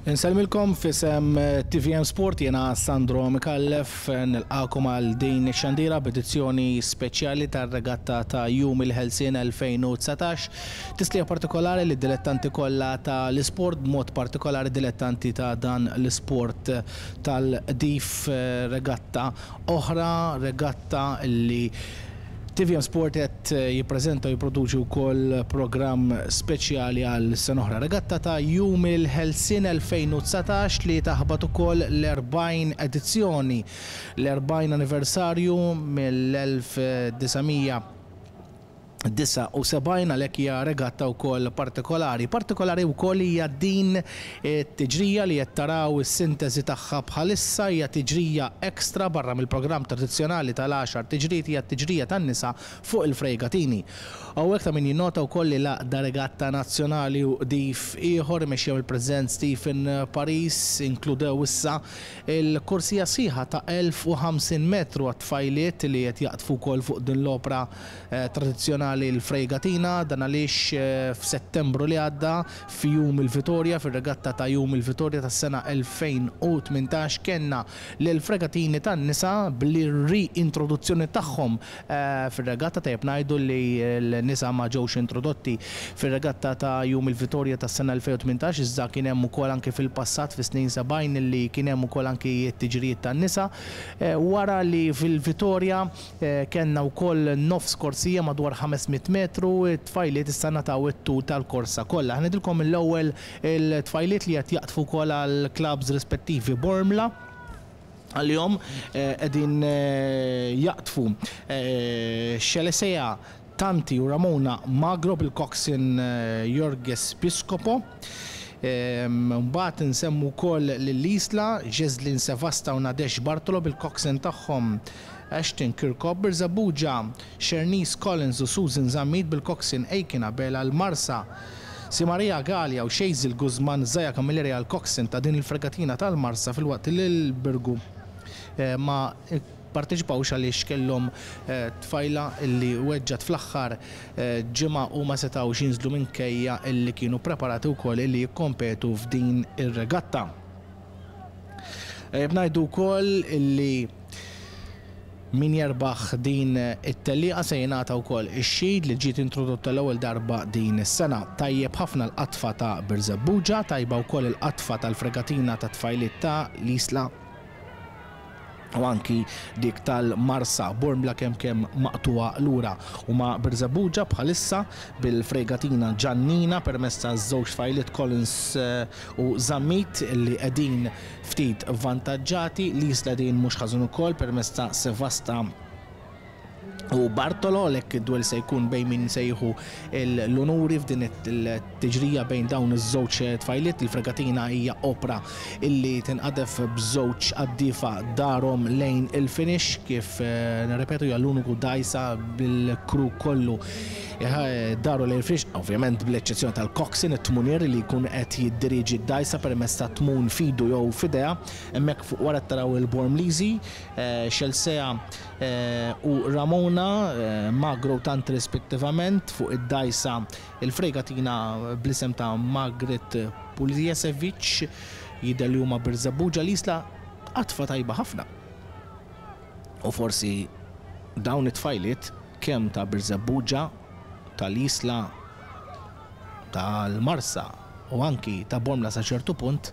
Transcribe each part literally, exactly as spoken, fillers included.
Insellmilkom f'isem T V M Sport, jena Sandro Mikallef, nilqagħkom għal din xandira b'edizzjoni speċjali tar-regatta ta' Jum il-Ħelsien elfejn u dsatax. Tislija partikolari li dilettanti kollha tal-isport, b'mod partikolari dilettanti ta' dan l-isport tal-qdif, regatta oħra, regatta li T V M Sport qed jippreżenta u jipproduċi wkoll programm speċjali għal sena oħra. Regatta ta' Jum il-Ħelsien elfejn u dsatax li taħbat ukoll l-erbgħin edizzjoni, l-erbgħin anniversarju mill-elf disa' mija disgħa u sebgħin, għalhekk hija regatta wkoll partikolari. Partikolari wkoll hija din it-tiġrija li qed taraw is-sintesi tagħha bħalissa, hija tiġrija ekstra barra mill-programm tradizzjonali tal-għaxar tiġrijiet, hija t-tiġrija tan-nisa fuq il-fregatini. Hawnhekk ta' min jinnota wkoll li l-Għaqda Regatta Nazzjonali u Qdif Ieħor imexxew il-President Stephen Paris inkludew issa il-korsija sħiħa ta' elf u ħamsin metru għat-tfajliet li qed jaqdfu wkoll fuq din l-opra eh, tradizzjonali l-fregatina. Dan għaliex eh, f'Settembru li għadda, fi Jum il-Vitorja, fir-regatta ta' Jum il-Vitorja tas-sena elfejn u tmintax, kellna l-fregatini tan-nisa bl-reintroduzzjoni tagħhom eh, fir-regatta. Tajjeb ngħidu li l-nisa ma ġewx introdotti fir-regatta ta' Jum il-Vitorja tas-sena elfejn u tmintax, iżda kien hemm ukoll anke fil-passat, fis-snin sebgħin, li kien hemm ukoll anke t-tiġrijiet tan-nisa. Eh, wara li fil-Vitorja kellna wkoll nofs korsija madwar ħames mitt metru, it-tfajliet issa ngħataw it-tul tal-korsa kollha. Ħa ngħidilkom l-ewwel il-tfajliet li qed jaqdfu wkoll għal clubs rispettivi. Bormla għal-jom qegħdin jaqdfu Xelesea Tanti u Ramona Magro bil-coxswain Jorges Piscopo. Mbagħad nsemmu wkoll lil Isla, Ġeslin Sevasta u Nadesh Bartolo bil-coxswain tagħhom Ashton Kirkop. Birżebbuġa, Shernice Collins u Susan Zammit bil-coxswain Aiken Abela. L-Marsa, Si Maria Gallia u Xejzil Guzman, Zaja Camilleri għal coxswain ta' din il-fregatina tal-Marsa, filwaqt li l-Birgu eh, ma parteċipawx għaliex kellhom eh, tfajla illi weġġat fl-aħħar eh, ġimgħa u ma setgħux jinżlu minkejja illi kienu preparati wkoll illi jikkompetu f'din ir-regatta. Ngħidu wkoll illi min jerbaħ din it-tellieqa se jingħata wkoll ix-shield li ġiet introdotta l-ewwel darba din is-sena. Tajjeb ħafna l-qatfa ta' Birżebbuġa, tajba wkoll il-qatfa tal-fregatina ta' tfajliet ta' l-Isla u anki dik tal-Marsa. Bormla kemm kemm maqtuwa lura u ma' Birżebbuġa bħalissa bil-fregatina Ġannina permezz ta' żewġ tfajliet Collins eh, u Zammit li qegħdin ftit vantaġġati. L-Isla din mhux ħażin ukoll permezz ta' Sevasta u Bartolo, lek id-duel se jkun bejn min se jieħu l-onuri f'din it-tiġrija bejn dawn iż-żewġ tfajliet. Il-fregatina hija opra illi tinqadef b'żewġ qaddifa darhom lejn il-finish. Kif eh, nirrepetu, hija l-uniku dajsa bil-crew kollu eh, daru lejn il-finish, ovvjament bl-eċċezzjoni tal-coxswain, it-tmunier li jkun qed jiddiriġi d-dajsa permezz ta' tmun f'idu jew f'idejha. Hemmhekk fuq wara taraw il-Bormliżi, eh, Xelsea u Ramona Magro tant rispettivament fuq id-dajsa il-fregatina bl-isem ta' Margaret Puljesevic, jidher li huma Birżebbuġa. L-Isla qatfa tajba ħafna. U forsi dawn it-tfajliet kemm ta' Birżebbuġa, tal-Isla, tal-Marsa u anki ta' Bormla sa ċertu punt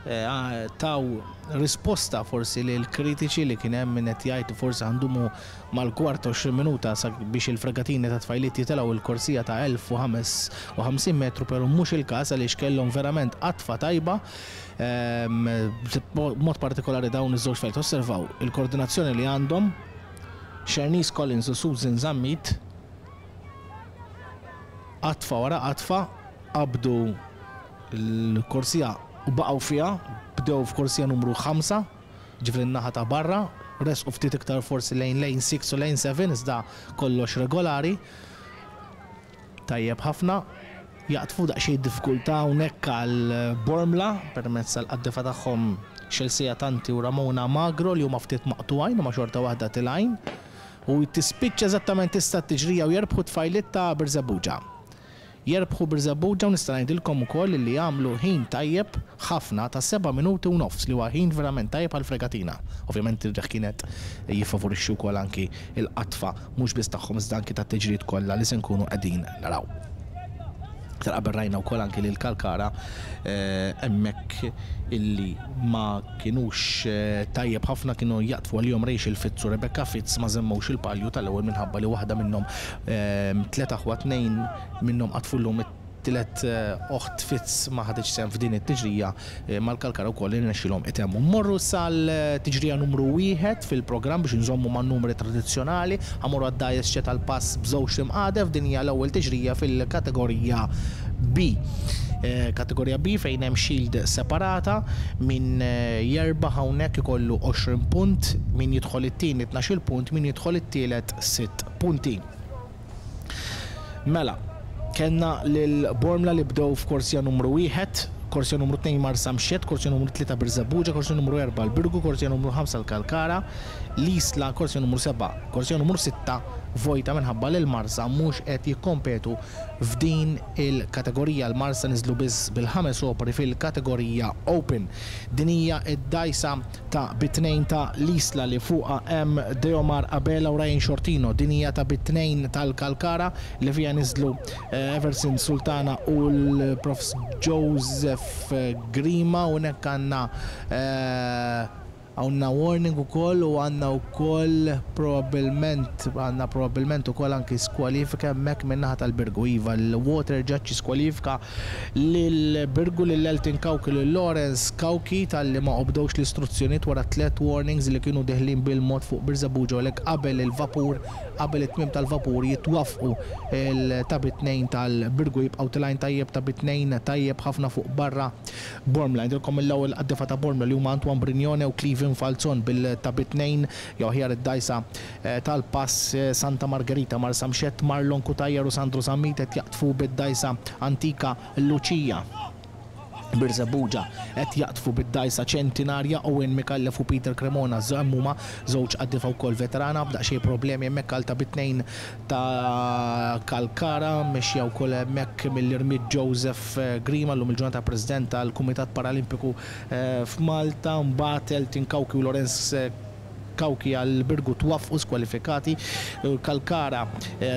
eh, taw risposta forsi li l-kritiċi li kien hemm min qed jgħid forsi ħa ndumu mal-kwarta għoxrin minuta biex il-fregatini ta' tfajliet jitilgħu il-korsija ta' elf u ħamsa u ħamsin metru, pero mhux il-każ għaliex kellhom verament qatfa tajba, ehm, mod partikolari dawn iż-żewġ tfajliet. Osservaw il-koordinazzjoni li għandhom Shernice Collins u Susan Zammit, qatfa wara qatfa qabdu l-korsija u baqgħu fiha, bdew f'korsija numru ħamsa, ġifieri n-naħa ta' barra, resqu ftit iktar forsi lejn lane sitta u lane sebgħa, iżda kollox regolari. Tajjeb ħafna, jaqtfu daqsxejn diffikultà hawnhekk għal Bormla permezz tal-qaddifa tagħhom Chelsea Tanti u Ramona Magro li huma ftit maqtugħin u ma xorta waħda tilgħin. U tispiċċa eżattament issa t-tiġrija u jerbħu tfajliet ta' Birżebbuġa. Jerbħu Birżebbuġa u nista' ngħidilkom ukoll li għamlu ħin tajjeb ħafna ta' seba' minuti u nofs, li huwa ħin verament tajjeb għal fregatina. Ovvjament ir-riħ kienet jiffavorixxi wkoll anki il-qatfa mhux biss tagħhom iżda anki tat-tiġrijiet kollha li se nkunu qegħdin naraw. Aktar qabel rajna wkoll anki lil Kalkara hemmhekk illi ma kinux tajjeb ħafna, kienu jaqtfu għalihom Rachel Fitz u Rebecca Fitz, ma żemmewx il-palju tal-ewwel minħabba li waħda minnhom, tliet aħwa, tnejn minnhom qatfu llum, it-tielet oħt Fitz ma ħaditx sehem f'din it-tiġrija mal-Kalkara wkoll irnexxielhom itemmu. Mmorru sal-tiġrija numru wieħed fil-programm biex nżommu man-numri tradizzjonali, ħa mmorru għad-dgħajjes C tal-pass b'żewġ imqadef. Din hija l-ewwel tiġrija fil-kategorija B. Kategorija B fejn hemm shield separata, min jerbaħ hawnhekk ikollu għoxrin punt, min jidħol it-tieni tnax-il punt, min jidħol it-tielet sitt punti. Mela, kellna lil Bormla li bdew f'korsija numru wieħed, korsija numru tnejn Marsamxett, korsija numru tlieta Birżebbuġa, korsija numru erba' l-Birgu, korsija numru ħamsa l-Kalkara, l-Isla, korsija numru seba', korsija numru sitta vojta minħabba li l-Marsa mhux qed jikkompetu f'din il-kategorija. L-Marsa niżlu biss bil-ħames opri fil-kategorija Open. Din hija d-dgħajsa ta' bi tnejn ta' l-Isla li fuqha hemm Deomar Abela u Ryan Shortino. Din hija ta' bi tnejn tal-Kalkara li fiha niżlu Everson Sultana u l-Profs Joseph Grima. U hekk għandna għandna warning ukoll u għandna wkoll probabbilment għandna probabbilment ukoll anki skwalifika hemmhekk min-naħa tal-Birgu. Iva, l-Water Judge skwalifika lil Birgu, lil Elton Cauchi, lil Lawrence Cauchi talli ma obdewx l-istruzzjonijiet wara tliet warnings li kienu deħlin bil-mod fuq Birżebbuġa, u għalhekk qabel il-vapur, qabel it-tmiem tal-vapur jitwaffqu il-ta' bi tnejn tal-Birgu, jibqgħu tilgħin tajjeb ta' bi tnejn tajjeb ħafna fuq barra Bormla. Ngħidilkom l-ewwel qaddifa ta' Bormla li huma Antoine Brignone u Cleveland Falzon bil-ta' bi tnejn, jew aħjar id-dgħajsa tal-pass Santa Margherita. Marsamxett, Marlon Cutajar u Sandro Zammit qed jaqtfu bid-dgħajsa Antika Lucia. Birżebbuġa qed jaqtfu bid-dgħajsa Ċentinarja Owen Micallef u Peter Cremona, huma żewġ qaddifa wkoll veterana, b'daqsxejn problemi hemmhekk għal ta' bi tnejn ta' Kalkara, mexja wkoll hemmhekk mill-irmied Joseph Grima, llum il-ġurnata President tal-Kumitat Paralimpiku f'Malta. Mbagħad Elton Cauchi u Lorenz Cauchi għal Birgu twaffqu skwalifikati. Kalkara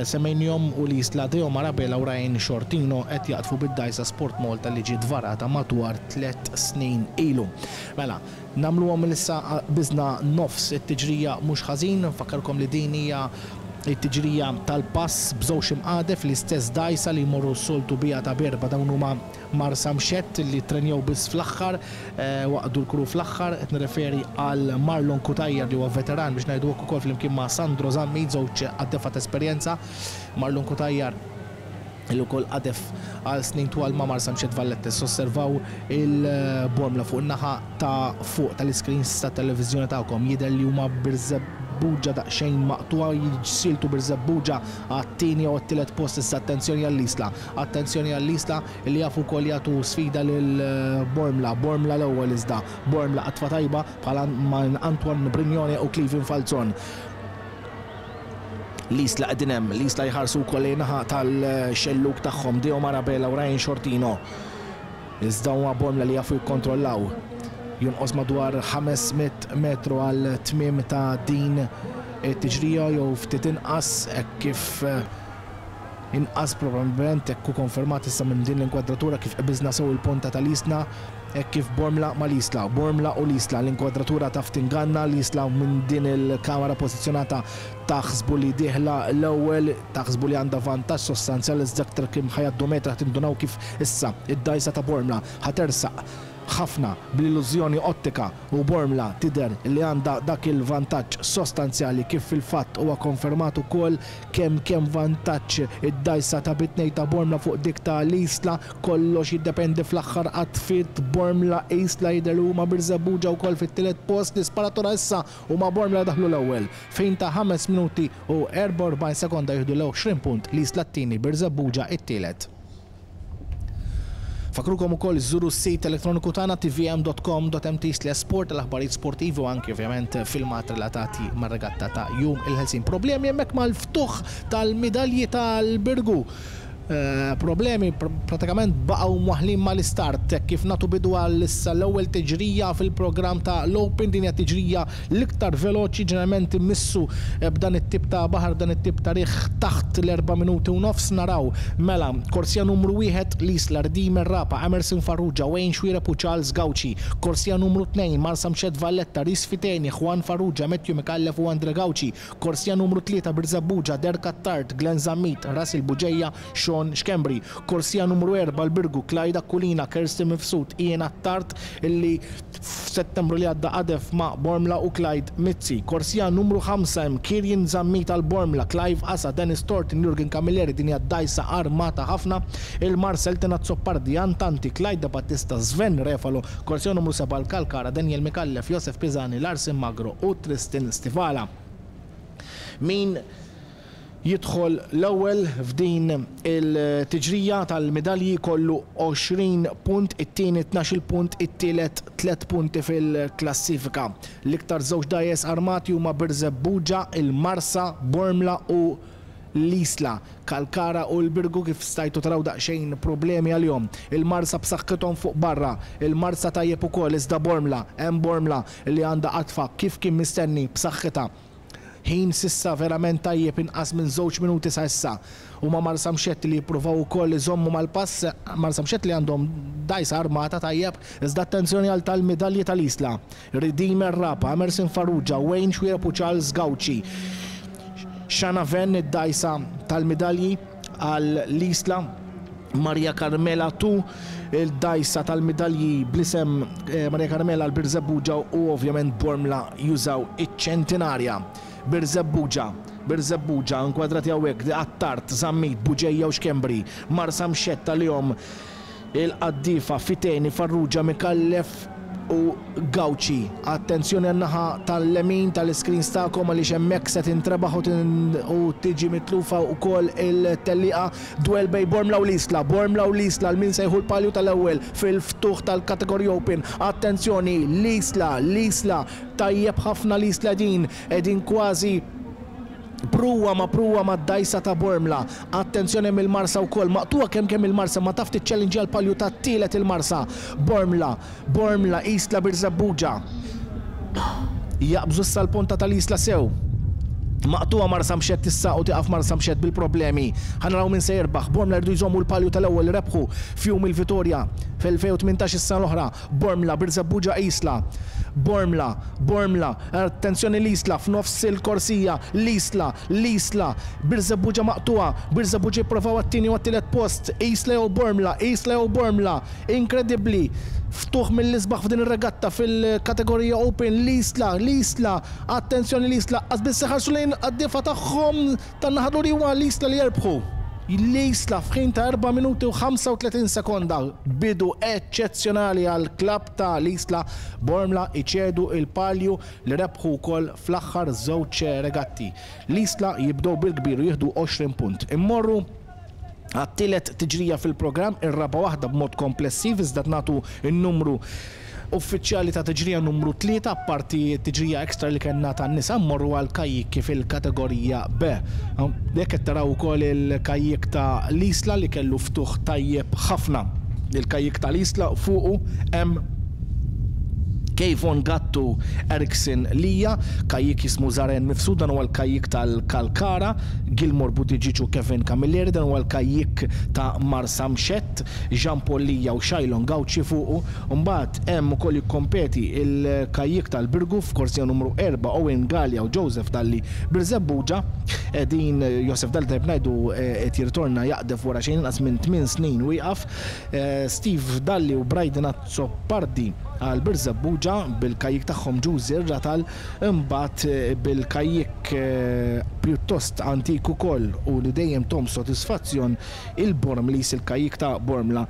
semmejnihom u l-Isla Deomar Abela u Ryan Shortino qed jaqtfu bid-dgħajsa Sport Malta li ġiet varata madwar tliet snin ilu. Mela, nagħmluhom issa biżna nofs it-tiġrija mhux ħażin, nfakkarkom li din hija it-tiġrija tal-pass b'żewġ imqadef l-istess dgħajsa li jmorru s-soltu biha ta' berba. Dawn huma Marsamxett li trenjaw biss fl-aħħar, waqdu l-kru fl-aħħar, qed nirreferi għal Marlon Cutajar li huwa veteran biex ngħidu hekk ukoll flimkien ma' Sandro Zammit, żewġ qaddefa ta' esperjenza. Marlon Cutajar li wkoll qadef għal snin twal ma' Marsamxett Valletta. Osservaw il-Bormla fuq in-naħa ta' fuq tal-iscreens ta' televiżjoni tagħkom, jidher li huma Birżebbuġa daqsxejn maqtuha, jiġsiltu Birżebbuġa għat-tieni u għat-tielet post. Issa attenzjoni għall-Isla, attenzjoni għall-Isla li jafu wkoll jagħtu sfida lil Bormla. Bormla l-ewwel iżda, Bormla qatfa tajba bħala Antoine Brignone u Cleveland Falzon. L-Isla qegħdin hemm, l-Isla jħarsu wkoll naħa tal-xelluk tagħhom, Deomar Abela u Ryan Shortino. Iżda huma Bormla li jafu jikkontrollaw. Jonqos madwar ħames mitt metru għal tmiem ta' din it-tiġrija jew ftit inqas, hekk kif inqas probabbilment hekk hu konfermat issa minn din l-inkwadratura kif qbiżna sew il-ponta tal-Isla, hekk kif Bormla mal-Isla, Bormla u l-Isla, l-inkwadratura taf tinganna, l-Isla minn din il-kamera pożizzjonata taħsbu li dieħla l-ewwel, taħsbu li għandha vantaġġ sostanzjali, iżda aktar kemm ħajaddu metra tindunaw kif issa id-dgħajsa ta' Bormla ħatersaq ħafna bl-illużjoni ottika u Bormla tidher li għandha dak il-vantaġġ sostanzjali kif fil-fatt huwa konfermat ukoll kemm kemm vantaġġ id-dgħajsa ta' bi tnejn ta' Bormla fuq dik ta' l-Isla. Kollox jiddependi fl-aħħar qatfiet. Bormla Isla jidher li huma Birżebbuġa wkoll fit-tielet post. L-isparatura issa huma Bormla daħlu l-ewwel fejn ta' ħames minuti u erbgħa u erbgħin sekonda jieħdu l-għoxrin punt, l-Isla t-tieni, Birżebbuġa t-tielet. Fakrukom ukoll żuru s-sit elettroniku tagħna t v m dot com dot m t slash sport għal aħbarijiet sportivi u anki ovvjament filmat relatati mar-regatta ta' Jum il-Ħelsin. Problemi hemmhekk mal-ftuħ tal-midalji tal-Birgu. eh, problemi, pratikament baqgħu mwaħlin mal-istart kif nagħtu bidu għal issa l-ewwel tiġrija fil-programm ta' l-Open. Din hija tiġrija l-iktar veloċi, ġeneralment immissu eh, b'dan it-tip ta' baħar, b'dan it-tip ta' riħ, taħt l-erba' minuti u nofs. Naraw mela korsija numru wieħed, L-Isla, Redeemer Rapa, Emerson Farrugia, Wayne Xuereb u Charles Gauci. Korsija numru tnejn, Marsamxett Valletta, Rhys Fiteni, Juan Farrugia, Matthew Micallef u Andre Gauci. Korsija numru tlieta, Birżebbuġa, Derek Attard, Glenn Zammit, Russell Bugeja, Sean Schembri. Korsija numru erbgħa, l-Birgu, Clyde Aquilina, Kirsten Mifsud, Ian Attard, illi f'Settembru li għadda qadef ma' Bormla, u Clyde Mizzi. Korsija numru ħamsa hemm Kirjen Zammit għal Bormla, Clive Asa, Dennis Thornton, Jurgen Camilleri, din hija dgħajsa armata ħafna. Il-Marsa, Tina Azzopardi, Antanti, Clyde Battista, Sven Refalo. Korsija numru sebgħa, l-Kalkara, Daniel Micallef, Josef Pisani, Larsen Magro u Tristan Stivala. Min jidħol l-ewwel f'din il-tiġrija tal-medalji kollu għoxrin punt, it-tieni tnax-il punt, it-tielet tliet punti fil-klassifika. L-iktar żewġ dgħajjes armati huma Birżebbuġa, il-Marsa, Bormla u l-Isla. Kalkara u l-Birgu, kif stajtu taraw, daqsxejn problemi għalihom. Il-Marsa b'saħħithom fuq barra, il-Marsa tajjeb ukoll, iżda Bormla, hemm Bormla li għandha qadfa kif kien mistenni b'saħħitha. Ħin s'issa verament tajjeb, inqas minn żewġ minuti sa issa. U ma Marsamxett li jippruvaw ukoll iżommu mal-pass, Marsamxett li għandhom dgħajsa armata tajjeb, iżda attenzjoni għal tal-medalji tal-Isla. Redeemer Rapa, Emerson Farrugia, Wayne Xuereb u Charles Gauci. Shana Venn id-dgħajsa tal-medalji għal l-Isla, Maria Carmela Tu, il-dgħajsa tal-medalji bl-isem eh, Maria Carmela għal Birżebbuġa u ovvjament Bormla jużaw iċ-ċentinarja. Birżebbuġa, Birżebbuġa, inkwadrati hawnhekk, Attard, Zammit, Bugeja u Schembri. Marsamxett għalihom il-qaddifa Fiteni, Farrugia, Micallef u Gauci. Attenzjoni għan-naħa tal-lemin tal-screen tagħkom għaliex hemmhekk se tintrebaħ u tiġi mitlufa wkoll il-tellieqa. Duel bejn Bormla u l-Isla. Bormla u l-Isla, min se jieħu l-palju tal-ewwel fil-ftuħ tal-kategorija Open? Attenzjoni, l-Isla, l-Isla, tajjeb ħafna l-Isla din, qegħdin kważi pruwa ma pruwa ma d-dgħajsa ta' Bormla. Attenzjoni mill-Marsa wkoll, maqtugħa kemm kemm il-Marsa, ma taf tiċċellinġi għal-palju ta' tielet il-Marsa. Bormla, Bormla, Isla, Birżebbuġa. Jaqbżu sal-ponta tal-Isla sew. Maqtugħa Marsamxett issa u tiqaf Marsamxett bil-problemi. Ħa naraw min se jirbaħ. Bormla jridu jżommu l-palju tal-ewwel, rebħu f'jum il-Vitorja fl-elfejn u tmintax is-sena l-oħra. Bormla, Birżebbuġa, Isla. Bormla, Bormla, attenzjoni l-Isla f'nofs il-korsija, l-Isla, l-Isla, Birżebbuġa maqtugħa, Birżebbuġa jipprovaw għat-tieni u għat-tielet post, Isla jew Bormla, Isla jew Bormla, inkredibbli, ftuħ mill-isbaħ f'din ir-regatta fil-kategorija Open, l-Isla, l-Isla, attenzjoni l-Isla, qas biss ħarsu lejn għad-difa tagħhom tan-naħa li huwa l-Isla li jerbħu. L-Isla f'ħin ta' erba' minuti u ħamsa u tletin sekonda, bidu eċċezzjonali għal klab ta' l-Isla. Bormla iċedu il-palju li rebħu wkoll fl-aħħar żewġ regatti. L-Isla jibdew bil-kbir u jieħdu għoxrin punt. Immorru għat-tielet tiġrija fil-programm, ir-raba' waħda b'mod komplessiv, iżda nagħtu n-numru uffiċjali ta' tiġrija numru tlieta, apparti tiġrija ekstra li kellna tan-nisa. Mmorru għal kajjikki fil-kategorija B. Jekk qed taraw ukoll il-kajjik ta' l-Isla li kellu ftuħ tajjeb ħafna. Il-kajjik tal-Isla fuqu hemm Kejvon Gattu, Erickson Lija, kajjik jismu Zaren Mifsud, dan huwa l-kajjik tal-Kalkara, Gilmore Buttigieg u Kevin Camilleri, dan huwa l-kajjik ta' Marsamxett, Jean Paul Lija u Shailon Gauci fuqu. Mbagħad hemm ukoll jikkompeti il-kajjik tal-Birgu f'korsija numru erbgħa, Owen Gallia u Joseph Dalli. Birżebbuġa, din Joseph Dalli, tajb ngħidu, qed jirritorna jaqdef wara xejn inqas minn tmien snin wieqaf. Steve Dalli u Brayden Azzopardi għal Birżebbuġa bil-kajjik tagħhom Ġużi Ratal, imbagħad bil-kajjik pjuttost antik ukoll u li dejjem tahom sodisfazzjon, il-Bormlis, il-kajjik ta' Bormla,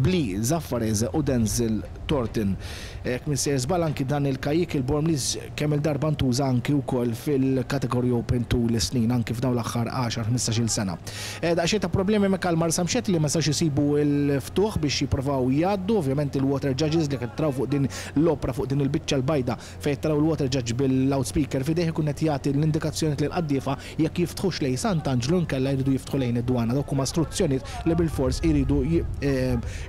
Bli Zaffarese u Denzel Thornton. Jekk m'iniex sejjer żball, anki dan il-kajjik il-Bormliż kemm il-darba ntuża anki wkoll fil-kategorija Open tul is-snin, anki f'dawn l-aħħar għaxar ħmistax-il sena. Daqsxejn ta' problemi mek għal Marsamxett li ma sawx isibu l-ftuħ biex jippruvaw jgħaddu. Ovvjament il-water judges li qed taraw fuq din l-opra, fuq din il-biċċa l-bajda fejn taraw il-water judge bil-loudspeaker f'idejh, ikun qed jagħti l-indikazzjoni lil qaddiefa jekk jiftħux lejn Sant'Anġlu nkella jridu jiftħu lejn id-dwana. Dawk huma istruzzjonijiet li bil-fors iridu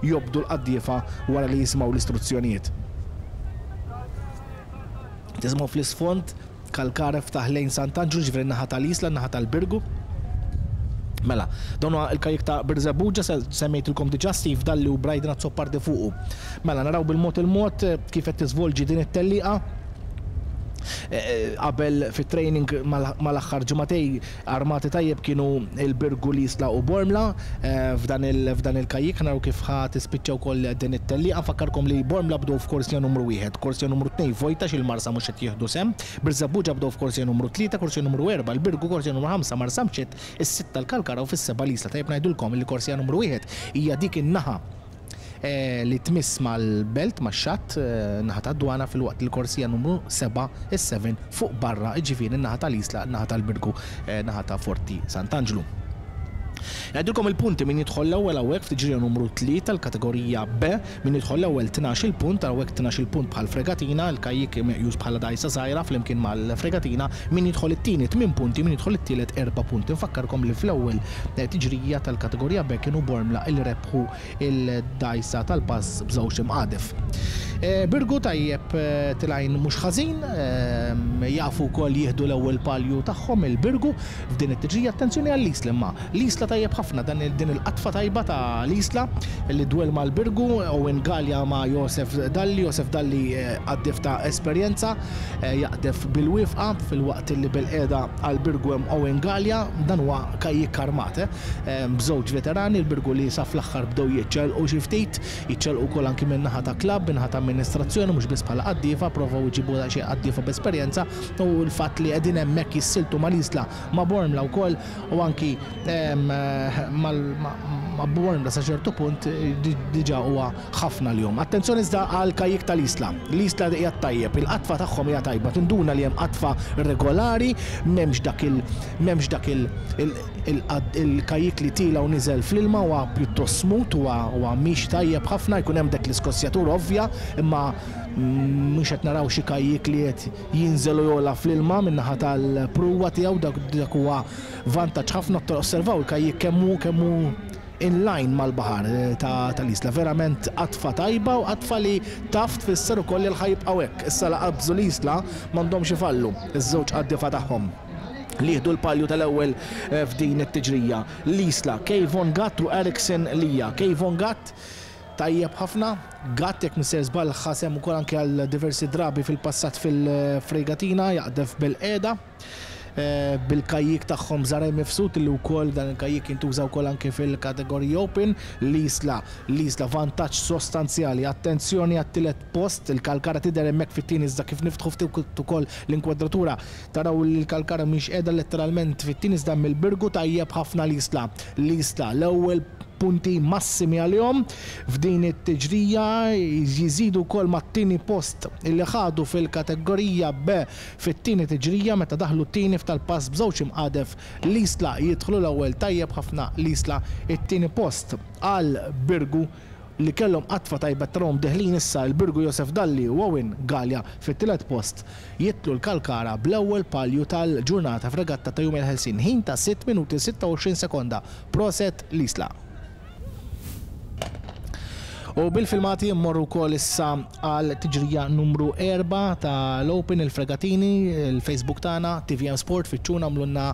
jobdu l-qaddiefa wara li jisimgħu l-istruzzjonijiet. Tisimgħu fl-isfond Kalkara ftaħ lejn Sant'Anġlu, ġifieri naħa tal-Isla, naħa tal-Birgu. Mela, dawn il-kajjik ta' Birżebbuġa, semmejtilkom diġà Steve Dalli u Brydon Azzopardi fuqu. Mela, naraw bil-mod il-mod kif qed tiżvolġi din it-tellieqa. Qabel fit-training mal-aħħar ġimagħtejn armati tajjeb kienu il-Birgu, l-Isla u Bormla f'dan il-kajjik. Naraw kif ħa tispiċċa wkoll din it-tellieqa. Nfakkarkom li Bormla bdew f'korsija numru wieħed, korsija numru tnejn vojta x'il-Marsa mhux qed jieħdu sehem, Birżebbuġa bdew f'korsija numru tlieta, korsija numru erba' l-Birgu, korsija numru ħamsa Marsamxett, is-sitta l-Kalkara u fis-seba' l-Isla. Tajjeb ngħidulkom li korsija numru wieħed hija dik in-naħa li tmiss mal-belt, max-xatt, naħa tad-dwana, filwaqt il-korsija numru seba', is-seba fuq barra, ġifieri naħa tal-Isla, naħa tal-Birgu, naħa ta' Forti Sant'Anġlu. Ngħidilkom il-punti: min jidħol l-ewwel hawnhekk f'tiġrija numru tlieta tal-kategorija B, min jidħol l-ewwel tnax-il punt, hawnhekk tnax-il punt bħal fregatina, il-kajjik meqjus bħala dgħajsa żgħira flimkien mal-fregatina, min jidħol it-tieni tmien punti, min jidħol it-tielet erba' punti. Nfakkarkom li fl-ewwel tiġrija tal-kategorija B kienu Bormla il rebħu il-dgħajsa tal-pass b'żewġ imqadef. Birgu tajjeb, telgħin mhux ħażin, jafu wkoll jieħdu l-ewwel palju tagħhom il-Birgu f'din it-tiġrija. Attenzjoni għall-Isla imma. L-Isla tajjeb ħafna, dan din il-qatfa tajba ta' l-Isla li dwel mal-Birgu, Owen Gallia ma' Josef Dalli. Josef Dalli qaddef ta' esperjenza, jaqdef bil-wifqa, filwaqt li bil-qeda għal-Birgu hemm Owen Gallia. Dan huwa kajjik armat, b'żewġ veterani, il-Birgu li sa fl-aħħar bdew jiċċelqu xi ftit, jiċċelqu wkoll anki minn naħa ta' klabb, minn naħa ta' amministrazzjoni, mhux biss bħala qaddiefa, provaw iġibu xi qaddiefa b'esperjenza u l-fatt li qegħdin hemmhekk jissiltu mal-Isla, ma' Bormla wkoll u anki ma' Bormla sa ċertu punt diġà huwa ħafna l-jum. Attenzjoni iżda għal kajjik tal-Isla. L-Isla hija tajjeb, il-qatfa tagħhom hija tajba, tinduna li hemm qatfa regolari, m'hemmx dak il m'hemmx dak il-kajjik li tila u niżel fl-ilma, huwa pjuttost smooth, huwa mhix tajjeb ħafna, jkun hemm dak l-iskossjatur ovvja, imma mhux qed naraw xi kajjik li qed jinżel u jola fl-ilma min-naħa tal-pruwa tiegħu. Dak huwa vantaġġ ħafna. Osservaw il-kajjik kemm hu kemm hu in line mal-baħar tal-Isla. Verament qatfa tajba u qatfa li taf tfisser ukoll li l-ħa jibqgħu hekk. Issa la qabżu l-Isla m'għandhomx ifallu iż-żewġ qaddiefa tagħhom li jieħdu l-palju tal-ewwel f'din it-tiġrija. L-Isla, Kayvon Gatt u Erickson Lija. Kayvon Gatt tajjeb ħafna, Gatt jekk m'iniex sejjer żball ħa sehem ukoll anke għal diversi drabi fil-passat fil-fregatina, jaqdef bil-qeda bil-kajjik tagħhom Zaraj Mifsud, li wkoll dan il-kajjik jintuża wkoll anke fil-kategorija Open. L-Isla, l-Isla vantaġġ sostanzjali. Attenzjoni għat-tielet post, il-Kalkara tidher hemmhekk fit-tieni, iżda kif niftħu ftit ukoll l-inkwadratura taraw li l-Kalkara mhix qiegħda letteralment fit-tieni, iżda mill-Birgu. Tajjeb ħafna l-Isla. L-Isla l-ewwel punti massimi għalihom f'din it-tiġrija, jiżidu wkoll mat-tieni post li ħadu fil-kategorija B fit-tieni tiġrija meta daħlu t-tieni f'tal-pass b'żewġ imqadef. L-Isla jidħlu l-ewwel, tajjeb ħafna l-Isla, it-tieni post għal Birgu li kellhom qatfa tajba, tarahom deħlin issa il-Birgu, Josef Dalli u Owen Gallia fit-tielet post. Jidħlu l-Kalkara bl-ewwel palju tal-ġurnata f'regatta ta' Jum il-Ħelsien, ħin ta' sitt minuti sitta u għoxrin sekonda. Prosit l-Isla. U bil-filmati mmorru wkoll issa għal tiġrija numru erbgħa tal-Open il-Fregatini, il-Facebook tagħna, T V M Sport, fittxuna, għamlulna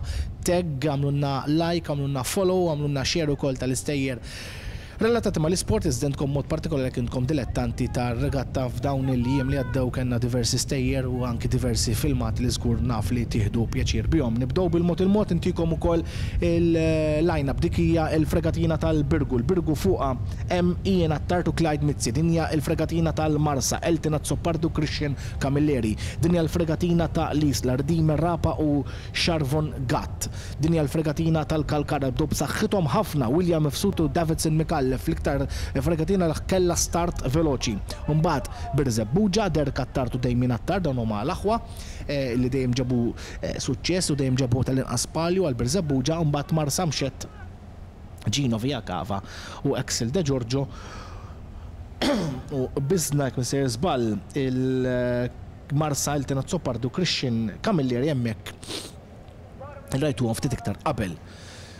tag, għamlulna like, għamlulna follow, għamlulna share ukoll tal-istejjer relatati ma l-isport, iżda intkom mod partikolari intkom dilettanti ta' regatta. F'dawn il-jiem li għaddew kellna diversi stejjer u anki diversi filmat li żgur naf li tieħdu pjaċir bihom. Nibdew bil-mod il-mod intikom ukoll il-line-up. Dik hija il-fregatina tal-Birgu. Il-Birgu fuqha hemm Ian Attard u Clyde Mizzi. Din hija il-fregatina tal-Marsa, Elton Azzopardi u Christian Camilleri. Din hija l-fregatina ta' l-Isla, Rdimer Rapa u Sharvon Gatt. Din hija l-fregatina tal-Kalkara, bdew b'saħħithom ħafna, William Mifsud u Davidson Micallef. Micallef, l-iktar fregatina li kellha start veloċi. Mbagħad Birżebbuġa, Derek Attard u Damien Attard, dawn huma l-aħwa li dejjem ġabu suċċess u dejjem ġabu tal-inqas palju għal Birżebbuġa. Mbagħad Marsamxett, Gino Via Cava u Axel De Giorgio u bizna jekk sejjer żball il-Marsa, Elton Azzopardi u Christian Camilleri, hemmhekk rajtu ftit iktar qabel.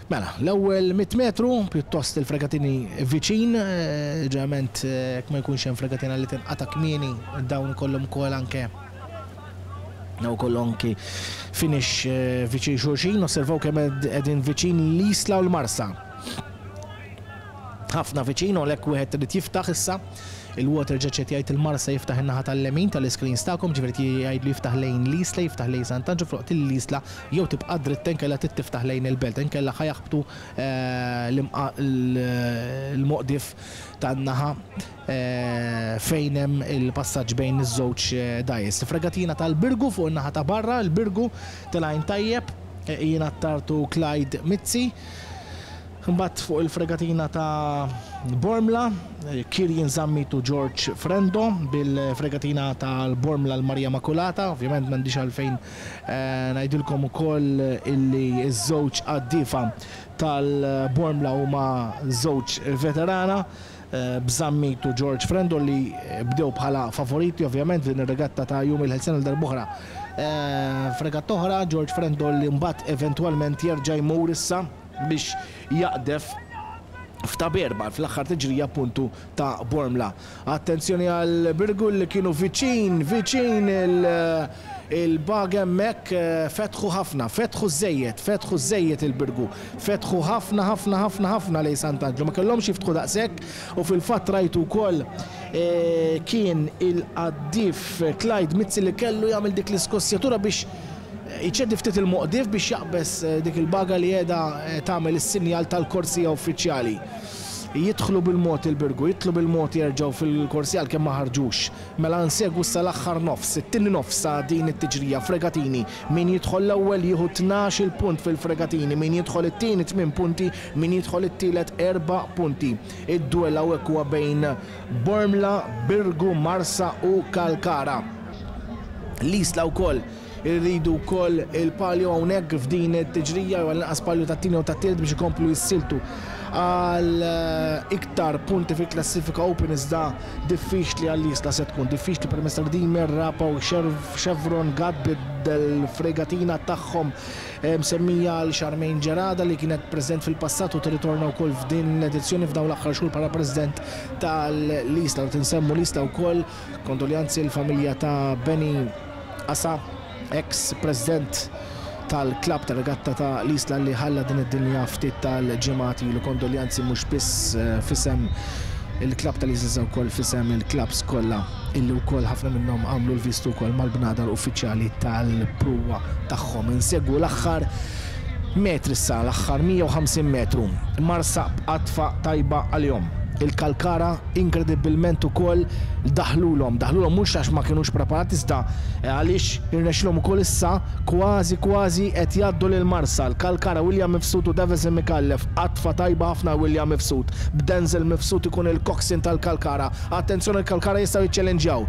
Mela, l-ewwel mitt metru pjuttost il-fregatini viċin, ġeneralment jekk ma jkunx hemm fregatina li tinqata' kmieni, dawn ikollhom ukoll anke Naw kollu anki finish viċin xulxin. Osservaw kemm qegħdin viċin l-Isla u l-Marsa. Ħafna viċin, u għalhekk wieħed irid jiftaħ issa. Il-water jet jgħid il-Marsa jiftaħ in-naħa tal-lemin tal-screens tagħkom, ġifieri jgħidlu jiftaħ lejn l-Isla, jiftaħ lejn Sant'Anġlu, fuq l-Isla jew tibqa' dritt inkella trid tiftaħ lejn il-belt, inkella ħa jaħbtu l-moqdif tan-naħa fejn hemm il-passaġġ bejn iż-żewġ dgħajjes. Fregatina tal-Birgu fuq in-naħa ta' barra, il-Birgu telgħin tajjeb, Ian Attard u Clyde Mizzi. Mbagħad fuq il-fregatina ta' Bormla, Kirjen Zammit u George Frendo bil-fregatina tal-Bormla l-Maria Makulata. Ovvjament m'għandix għalfejn ngħidilkom ukoll illi ż-żewġ qaddiefa tal-Bormla huma żewġ veterana, b'Zammit u George Frendo li bdew bħala favoriti ovvjament din ir-regatta ta' Jum il-Ħelsien għal darb'oħra. Fregatta oħra, George Frendo li mbagħad eventwalment jerġa' jmur issa biex jaqdef f'ta' berba fl-aħħar tiġrija appuntu ta' Bormla. Attenzjoni għal Birgu li kienu viċin, viċin il-bag hemmhekk, fetħu ħafna, fetħu żejjed, fetħu żejjed il-Birgu, fetħu ħafna ħafna ħafna ħafna lejn Sant'Anġlu, ma kellhomx jiftħu daqshekk u fil-fatt rajtu wkoll kien il-qaddif Clyde Mizzi li kellu jagħmel dik l-iskossjatura biex iċedi ftit il-moqdif biex jaqbes dik il-baga li qiegħda tagħmel is-sinjal tal-korsija uffiċjali. Jidħlu bil-mod il-Birgu, jidħlu bil-mod jerġgħu fil-korsija għalkemm ma ħarġux. Mela nsegwu sa l-aħħar nofs, it-tieni nofs sa din it-tiġrija fregatini. Min jidħol l-ewwel jieħu tnax-il punt fil-fregatini, min jidħol it-tieni tmien punti, min jidħol it-tielet erba' punti. Id-duell hawnhekk huwa bejn Bormla, Birgu, Marsa u Kalkara. L-Isla wkoll irridu wkoll il-palju hawnhekk f'din it-tiġrija, jew għall-inqas palju tat-tieni u tat-tielet biex ikomplu jissiltu għal iktar punti fil-klassifika Open, iżda diffiċli għall-Isla se tkun, diffiċli permezz ta' Redeemer, Rapa u Chevron Gad bil-fregatina tagħhom msemmija għal Charmaine Gerada li kienet preżent fil-passat u tirritorna wkoll f'din l-edizzjoni f'dawn l-aħħar xhur bħala president tal-Isla. U tinsemmu l-Isla wkoll, kondoljanzi l-familja ta' Benny Asa, ex-president tal-klab tal-regatta ta' l-Isla li ħalla din id-dinja ftit tal-ġimgħat ilu. Kondoljanzi mhux biss fisem il-klab tal-Isla, wkoll fisem il-klabs kollha illi wkoll ħafna minnhom għamlu l-vistu wkoll mal-bnadar uffiċjali tal-pruwa tagħhom. Insegwu l-aħħar metri issa, l-aħħar mija u ħamsin metru. Marsa b'qatfa tajba għalihom. Il-Kalkara inkredibilment ukoll daħlulhom, daħlulhom mhux għax ma kinux preparati, iżda għaliex irnexxilhom ukoll issa kważi kważi qed jgħaddu lil Marsa. L-Kalkara William Mifsud u Davison Micallef, qatfa tajba ħafna William Mifsud, b'Denzel Mifsud ikun il-coxswain tal-Kalkara. Attenzjoni, il-Kalkara jistgħu jiċċellenġjaw.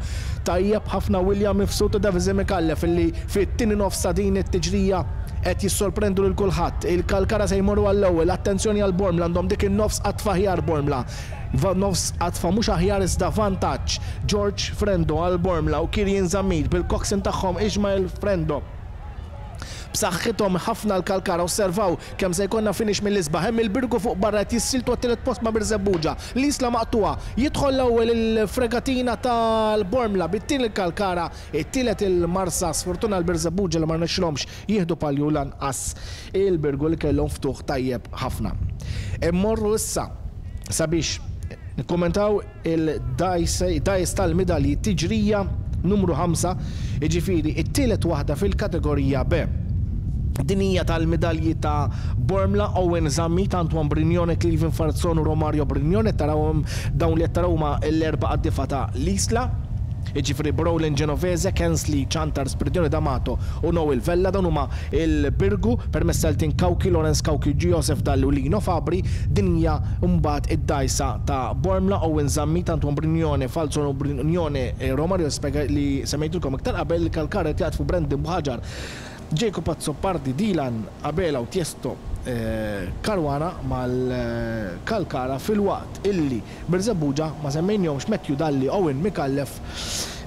Tajjeb ħafna William Mifsud u Davison Micallef illi fit-tieni nofs ta' din it-tiġrija qed jissorprendu lil kulħadd. Il-Kalkara se jmorru għall-ewwel, attenzjoni għal Bormla, għandhom dik in-nofs qatfa aħjar Bormla. Nofs qatfa mhux aħjar iżda vantaġġ. George Frendo għal Bormla u Kirjen Zammit bil-coxswain tagħhom Ismael Frendo. B'saħħithom ħafna l-Kalkara, osservaw kemm se jkollna finish mill-isbaħ. Hemm il-Birgu fuq barra qed jissiltu għat-tielet post ma' Birżebbuġa. L-Isla maqtuha, jidħol l-ewwel il-fregatina tal-Bormla, bit-tieni il-Kalkara, it-tielet il-Marsa. Sfortuna l-Birżebbuġa li ma rnexxilhomx jieħdu palju lanqas il-Birgu li kellhom ftuħ tajjeb ħafna. Immorru issa sabiex nikkommentaw il-dajs tal-midalji, tiġrija numru ħamsa, jiġifieri it-tielet waħda fil-kategorija B. Din hija tal-midalji ta' Bormla, Owen Zammit, Antoine Brignone, Cleveland Farzon u Romario Brignone. Tarawhom dawn li qed taraw huma l-erba' qaddifa ta' l-Isla. Jiġifieri Brolin Genovese, Kensley Ciantar, Spiridione D'Amato u Noel Vella. Dawn huma il-Birgu permezz tal-Tin Cauchi, Lawrence Cauchi, Joseph Dalli u Lino Fabri. Din hija mbagħad id-dgħajsa ta' Bormla, Owen Zammit, Antoine Brignone, Falzon u Brignone, Romario spjega li semmejtulkom iktar qabel. Il-Kalkara qed jaqdfu Brandon Buhagiar, Jacob Azzopardi, Dylan Abela u Tiesto Caruana mal-Kalkara, filwaqt illi Birżebbuġa ma semmejnihomx, Matthew Dalli, Owen Micallef,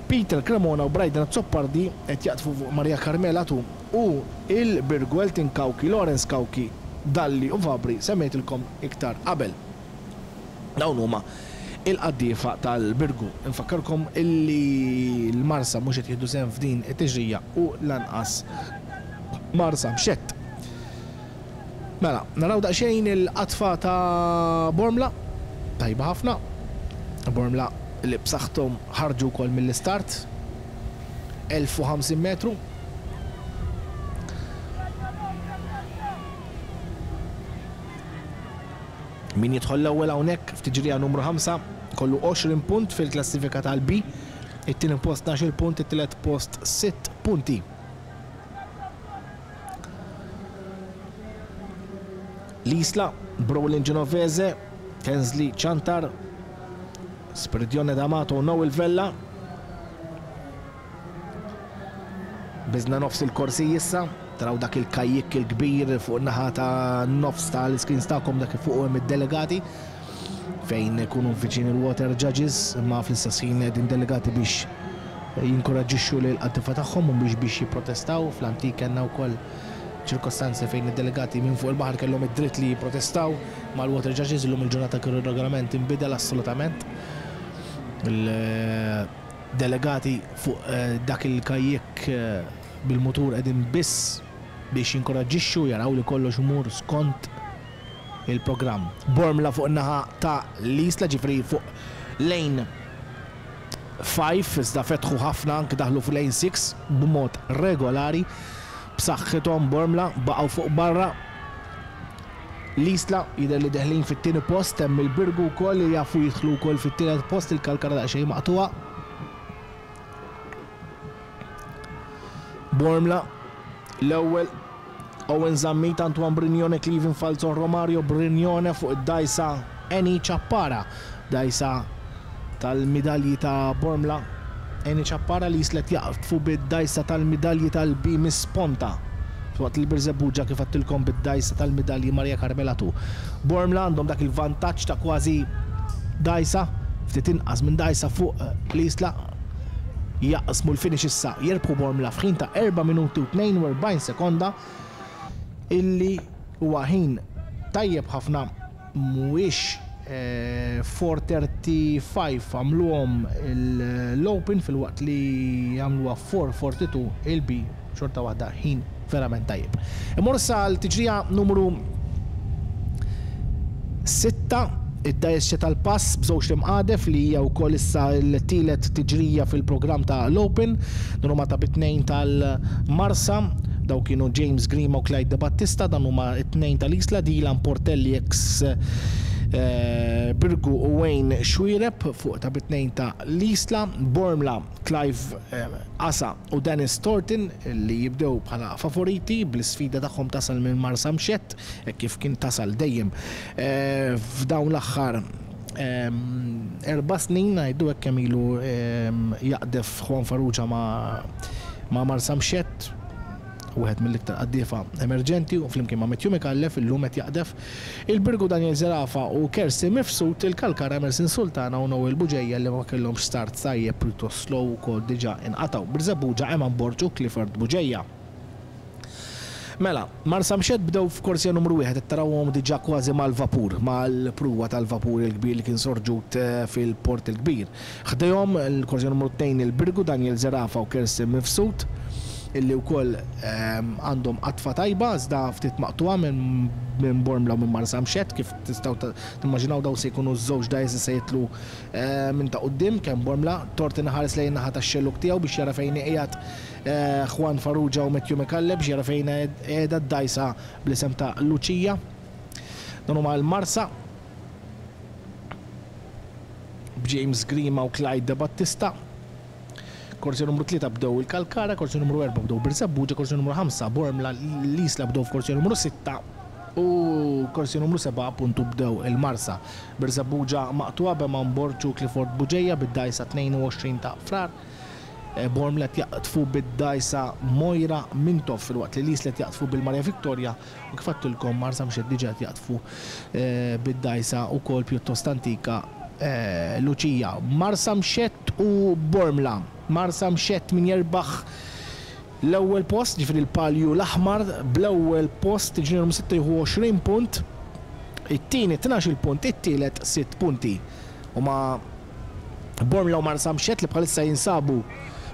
Peter Cremona u Bryden Azzopardi qed jaqdfu fuq Maria Carmela Tu, u il-Birgu Elton Cauchi, Lawrence Cauchi, Dalli u Fabri semmejtilkom iktar qabel. Dawn huma il-qaddiefa tal-Birgu. Infakkarkom illi l-Marsa mhux qed jieħdu sehem f'din it-tiġrija u lanqas Marsamxett. Mela, naraw daqsxejn il-qatfa ta' Bormla, tajba ħafna. Bormla li b'saħħthom ħarġu wkoll mill-istart, elf u ħamsin metru. Min jidħol l-ewwel hawnhekk f'tiġrija numru ħamsa kollu għoxrin punt fil-klassifika tal-B, it-tieni post tnax-il punt, it-tielet post sitt punti. L-Isla, Brolin Genovese, Kensley Ciantar, Spiridione D'Amato u Noel Vella. Biżna nofs il-korsi issa, taraw dak il-kajjik il-kbir fuq naħa ta' nofs tal-screens tagħkom, dak fuq hemm id-delegati fejn ikunu viċin il-water judges, imma fl-istess ħin qegħdin delegati biex jinkoraġġixxu lil qaddifa tagħhom u biex biex jipprotestaw. Fl-antik kellna wkoll ċirkostanzi fejn id-delegati minn fuq il-baħar kellhom id-dritt li jipprotestaw mal-water judges. Illum il-ġurnata kienu ir-regolament inbidel assolutament. Il-delegati fuq dak il-kajjik bil-mutur qegħdin biss biex jinkoraġġixxu, jaraw li kollox imur skont il-programm. Bormla fuq in-naħa ta' l-Isla, ġifri fuq lane five, iżda fetħu ħafna anke daħlu fuq lane six b'mod regolari. B'saħħithom Bormla baqgħu fuq barra. L-Isla jidher li deħlin fit-tieni post, hemm il-Birgu wkoll li jafu jidħlu wkoll fit-tielet post, il-Kalkara daqsxejn maqtuha. Bormla l-ewwel, Owen Zammit, Antoine Brignone, Cleveland Falzon, Romario Brignone fuq id-dgħajsa Eni Ciappara, dgħajsa tal-midalji ta' Bormla. Eni Ciappara li jislet jaqfu bid-dgħajsa tal-midalji tal-B Miss Ponta, waqt li Birżebbuġa kif għedtilkom bid-dgħajsa tal-midalji Maria Carmela Tu. Bormla għandhom dak il-vantaġġ ta' kważi dgħajsa, ftit inqas minn dgħajsa fuq l-Isla. Jaqsmu l-finish issa, jirbħu Bormla f'ħin ta' erba' minuti u tnejn u erbgħin sekonda, illi huwa ħin tajjeb ħafna, mhuwiex, eh, four thirty-five għamluhom l-Open fil-waqt li għamluha four forty-two il-B, xorta waħda ħin verament tajjeb. Immur issa l-tiġrija numru sitta, id-dgħajsa tal-pass b'żewġ imqadef li hija wkoll issa l-tielet tiġrija fil-programm ta' l-Open, dan huma ta' bit-tnejn tal-Marsa, daw kienu James Grima u Clyde De Battista, dan huma t-tnejn tal-Isla, Dylan Portelli ex, eh, Birgu u Wayne Xuereb fuq ta' bit-tnejn ta' l-Isla, Bormla, Clive, eh, Asa u Dennis Thornton li jibdew bħala favoriti bl-isfida tagħhom tasal minn Marsamxett, hekk kif kien tasal dejjem, eh, f'dawn l-aħħar, ehm, erba' snin, ngħidu hekk kemm ilu, ehm, jaqdef Juan Farrugia ma', ma' Marsamxett, wieħed mill-iktar qaddiefa emerġenti, u flimkien ma' Matthew Micallef illum qed jaqdef il-Birgu Daniel Zerafa u Kersi Mifsud, il-Kalkara Emerson Sultana u Noel Bugeja li ma kellhomx start tajjeb pjuttost slow ukoll diġà inqatgħu. Birżebbuġa Eman Borg u Clifford Bugeja. Mela, Marsamxett bdew f'korsija numru wieħed, qed tarawhom diġà kważi mal-vapur, mal-pruwa tal-vapur il-kbir li kien sorġut, eh, fil-port il-kbir. Ħdejhom il-korsija numru tnejn il-Birgu Daniel Zerafa u Kersi Mifsud, illi wkoll, ehm, għandhom qatfa tajba, iżda ftit maqtuha minn, minn Bormla u minn Marsamxett, kif tistgħu ta-, timmaġinaw daw se jkunu ż-żewġ dgħajjes li se jitlu, eh, minn ta' quddiem, kemm Bormla, Thornton ħares lejn naħa tax-xelluk tiegħu biex jara fejn qiegħed, eh, Juan Farrugia u Matthew Micallef biex jara fejn qiegħda d-dgħajsa bl-isem ta' Lucia. Dan huma l-Marsa b'James Grima u Clyde De Battista. Korsija numru tlieta bdew il-Kalkara, korsija numru erbgħa bdew Birżebbuġa, korsija numru ħamsa Bormla, l-Isla bdew f'korsija numru sitta u korsija numru sebgħa appuntu bdew il-Marsa. Birżebbuġa maqtugħa b'Eman Borg u Clifford Buġeja bid-dgħajsa tnejn u għoxrin ta' Frar. Bormla qed jaqtfu bid-dgħajsa Moira Mintoff filwaqt li l-Isla qed jaqtfu bil-Maria Victoria u kif għedtilkom Marsamxett diġà qed jaqtfu bid-dgħajsa wkoll pjuttost antika Luċija. Marsamxett u Bormla. Marsamxett min jerbaħ l-ewwel post, ġifieri l-palju l-aħmar bl-ewwel post tiġri numru sitta jieħu għoxrin punt, it-tieni tnax-il punt, it-tielet sitt punti. Huma Bormla u Marsamxett li bħalissa jinsabu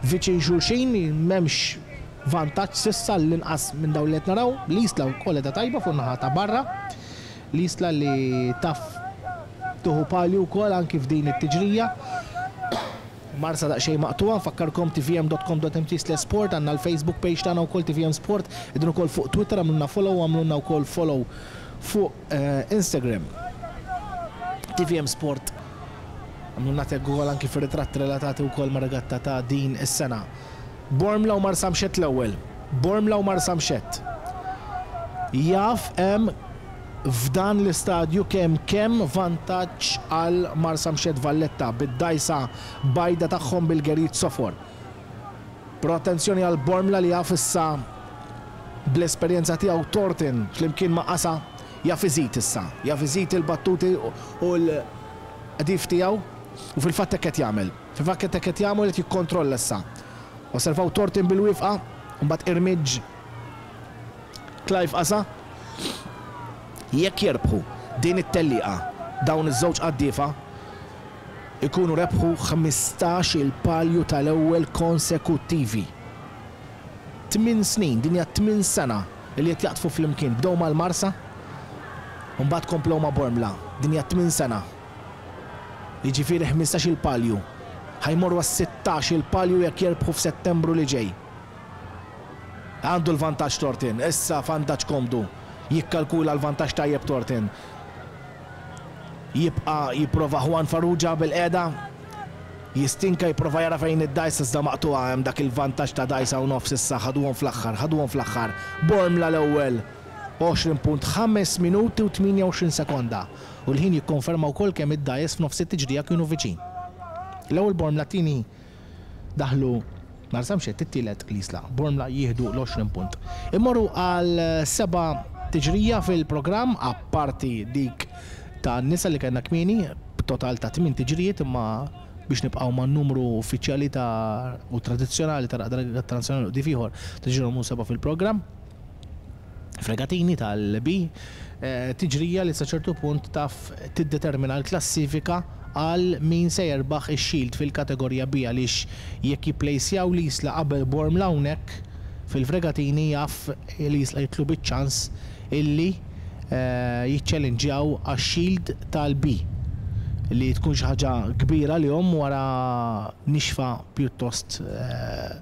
viċin xulxin, m'hemmx vantaġġ s'issa l-inqas minn dawn li qed naraw. L-Isla wkoll qiegħda tajba fuq naħa ta' barra. L-Isla li taf tuħu palju wkoll anki f'din it-tiġrija. Marsa daqsxejn maqtugħa, nfakkarkom t v m dot com dot m t slash sport, għandna l-Facebook page tagħna wkoll T V M Sport, qegħdin ukoll fuq Twitter, għamlulna follow, għamlulna wkoll follow fuq Instagram. T V M Sport, għamlulna tag ukoll anki fir-ritratti relatati wkoll ma' regatta ta' din is-sena. Bormla u Marsamxett l-ewwel. Bormla u Marsamxett. Jaf hemm f'dan l-istadju kemm kemm vantaġġ għal Marsamxett Valletta bid-dgħajsa bajda tagħhom bil-gerit sofor. Però attenzjoni għal Bormla li jaf issa bl-esperjenza tiegħu Thornton flimkien ma' Qasa jaf iżid issa, jaf iżid il-battuti u l-qdif tiegħu u fil-fatt hekk qed jagħmel. Fil-fatt hekk qed jagħmel qed jikkontrolla issa. Osservaw Thornton bil-wifqa, mbagħad irmiġ Clive Qasa. Jekk jerbħu din it-tellieqa dawn iż-żewġ qaddiefa ikunu rebħu ħmistax il-palju tal-ewwel konsekuttivi. Tmien snin, din hija tmien sena li qed jaqtfu flimkien. Bdew mal-Marsa, u mbagħad komplew ma' Bormla. Din hija tmien sena. Jiġifieri ħmistax il-palju. Ħajmorru għas-sittax il-palju jekk jerbħu f'Settembru li ġej. Għandu l-vantaġġ Thornton, issa vantaġġ komdu. Jikkalkula l-vantaġġ tajjeb Thornton. Jibqa' jipprova Juan Farrugia bil-qiegħda. Jistinka jipprova jara fejn id-dgħajsa iżda maqtugħa hemm dak il-vantaġġ ta' dgħajsa u nofs issa ħaduhom fl-aħħar, ħaduhom fl-aħħar. Bormla l-ewwel għoxrin punt ħames minuti u tmienja u għoxrin sekonda. U l-ħin jikkonferma wkoll kemm id-dgħajjes f'nofs it-tiġrija kienu viċin. L-ewwel Bormla, tieni daħlu Marsamxett, it-tielet l-Isla. Bormla jieħdu l-għoxrin punt. Immorru għal seba' tiġrija fil-programm, apparti dik ta' nisa li kellna kmieni, b'total ta' tmien tiġrijiet, imma biex nibqgħu man numru uffiċjali ta' u tradizzjonali ta' Regatta Nazzjonali u qdif ieħor, tiġri numru seba' fil-programm. Fregatini tal-B, eh, tiġrija li sa ċertu punt taf tiddetermina l-klassifika għal min se jerbaħ ix-shield fil-kategorija B, għaliex jekk jipplejsjaw l-Isla qabel Bormla hawnhekk fil-fregatini jaf l-Isla jitlu biċ-ċans illi, eh, jiċċellinġjaw għax-shield tal-B, li tkun xi ħaġa kbira li hom wara nixfa pjuttost, eh,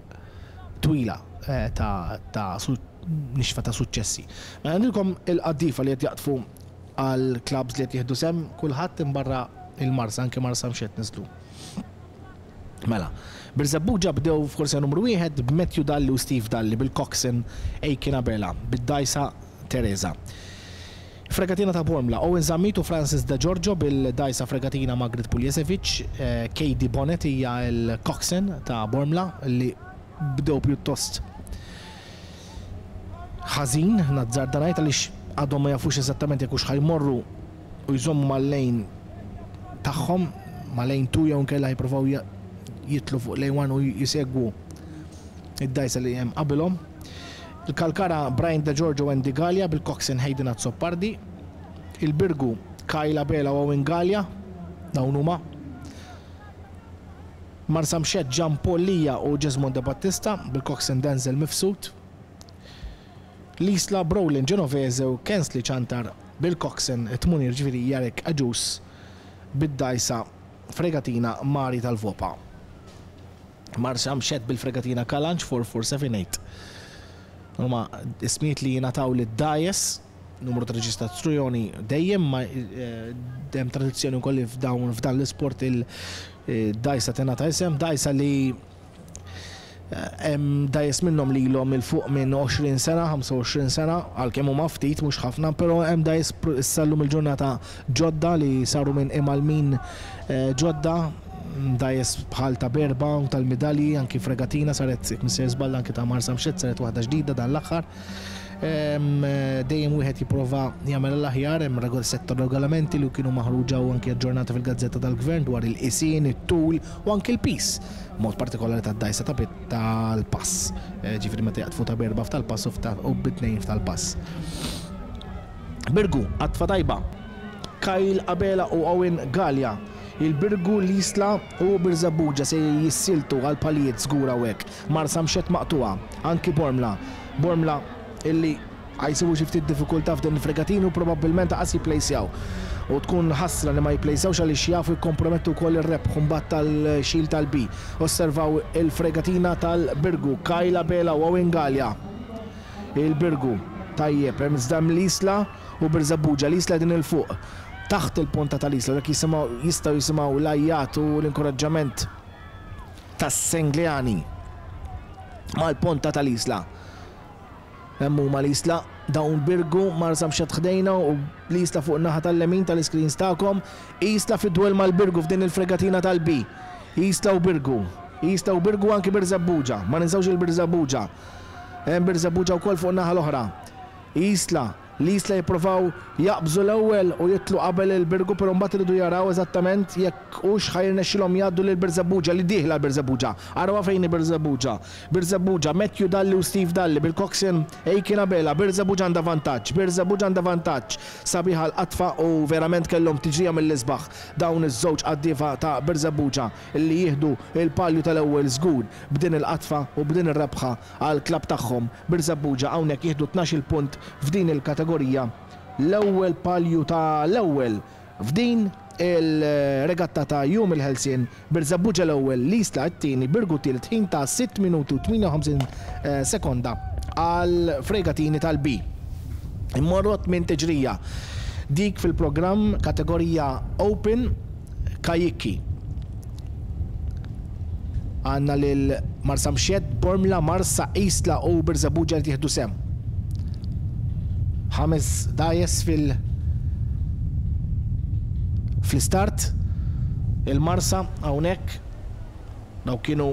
twila, eh, ta', ta' su-, nixfa ta' suċċessi. Mela għandilkom il-qaddifa li qed jaqtfu għal clubs li qed jieħdu sem, kulħadd imbarra il-Marsa, anke Marsamxett niżlu. Mela, Birżebbuġa bdew f'korsija numru wieħed b'Matthew Dalli u Steve Dalli bil-Coxswain Aiken Abela bid-dgħajsa Teresa. Fregatina ta' Bormla, Owen Zammit u Francis De Giorgio bil-dgħajsa Fregatina Margaret Puljesevic, eh, Katie Bonnet hija l-Coxswain ta' Bormla li bdew pjuttost ħażin, nazzarda ngħid għaliex għadhom ma jafux eżattament jekk hux ħajmorru u jżommu mal-lejn tagħhom, ma' lejn two jew inkella jippruvaw ja-, jitlu fuq lejn one u jisegwu id-dgħajsa li hemm qabilhom. Il-Kalkara Brian De Giorgio u Andy Gallia bil-Coxswain Hayden Azzopardi. Il-Birgu Kyle Abela u Owen Gallia, dawn huma. Marsamxett Gian Paul Lija u Jesmond De Battista bil-Coxswain Denzel Mifsud. L-Isla Brolin Genovese u Kensley Chantar bil-Coxswain Tmunir, ġifieri Jarek Aġus bid-dgħajsa Fregatina Mari tal-Vopa. Marsamxett bil-Fregatina Kalanġ four four seven eight. Huma ismijiet li jingħataw lid-dgħajjes, numru ta' reġistrazzjoni dejjem, ma, eh, hemm tradizzjoni wkoll li f'dawn, f'dan l-isport il-dgħajsa tingħata isem, dgħajsa li Hemm dgħajjes minnhom li ilhom 'il fuq minn għoxrin sena, ħamsa u għoxrin sena, għalkemm huma ftit mhux ħafna, però hemm dgħajjes issa llum il-ġurnata ġodda li saru minn imgħallmin ġodda, dgħajjes bħal ta' Berba u tal-Midalji, anki fregatina saret, jekk mhux sejjer żball, anki ta' Marsamxett saret waħda ġdida dan l-aħħar. Dejjem wieħed jipprova jagħmel l-aħjar, hemm sett ta' regolamenti li kienu maħruġa u anki aġġornati fil-Gazzetta tal-Gvern dwar il-qisien, it-tul u anki l-piż, mod partikolari tad-dgħajsa ta' tal-pass. Ġifieri meta jaqtfu ta' berba f'tal-pass u bit-tnejn f'tal-pass. Birgu, qatfa tajba. Kyle Abela u Owen Galea. Il-Birgu, l-Isla u Birżebbuġa se jissiltu għal palijiet żgur hawnhekk. Marsamxett maqtugħa, anki Bormla. Bormla illi ħajsibu xi ftit diffikultà f'din il-fregatin u probabbilment qas jipplejsjaw. U tkun ħasra li ma jipplejsjawx għaliex jafu jikkompromettu wkoll ir-rebħ imbagħad tal-xil tal-B. Osservaw il-fregatina tal-Birgu, Kyle Abela u Owen Galea. Il-Birgu, tajjeb, hemm iżda hemm l-Isla u Birżebbuġa, l-Isla din il-fuq. Taħt il-ponta tal-Isla, dak jisimgħu, jistgħu jisimgħu l-ajjat u l-inkoraġġament tas-Sengleani mal-ponta tal-Isla. Hemm huma l-Isla, dawn Birgu, Marsamxett ħdejna u l-Isla fuq naħa tal-lemin tal-iscreens tagħkom. Isla fid-dwell mal-Birgu f'din il-fregatina tal-B. Isla u Birgu. Isla u Birgu anki Birżebbuġa. Ma ninsewx il-Birżebbuġa. Hemm Birżebbuġa wkoll fuq naħa l-oħra. Isla, l-Isla jippruvaw jaqbżu l-ewwel u jitlu qabel il-Birgu, però mbagħad iridu jaraw eżattament jekk hux ħajrnexxilhom jgħaddu lil Birżebbuġa li dieħla l-Birżebbuġa. Arawha fejn hi Birżebbuġa. Birżebbuġa, Matthew Dalli u Steve Dalli bil-coxswain Aiken Abela. Birżebbuġa għandha vantaġġ, Birżebbuġa għandha vantaġġ. Sabiħa l-qatfa u verament kellhom tiġrija mill-isbaħ dawn iż-żewġ qaddiefa ta' Birżebbuġa li jieħdu il-palju tal-ewwel żgur b'din il-qatfa u b'din ir-rebħa għall-klabb tagħhom. Birżebbuġa hawnhekk jieħdu tnax-il punt f'din il-kategorija, l-ewwel palju ta' l-ewwel f'din il-regatta ta' Jum il-Ħelsien. Birżebbuġa l-ewwel, l-Isla t-tieni, Birgu tielet, ħin ta' sitt minuti u tmienja u ħamsin sekonda għal fregatini tal-B. Immorru minn tiġrija dik fil-programm kategorija Open Kajikki. Għandna lil Marsamxett, Bormla, Marsa, Isla u Birżebbuġa li tieħdu sem. Ħames dgħajjes fil- fl-istart. Il-Marsa hawnhekk daw kienu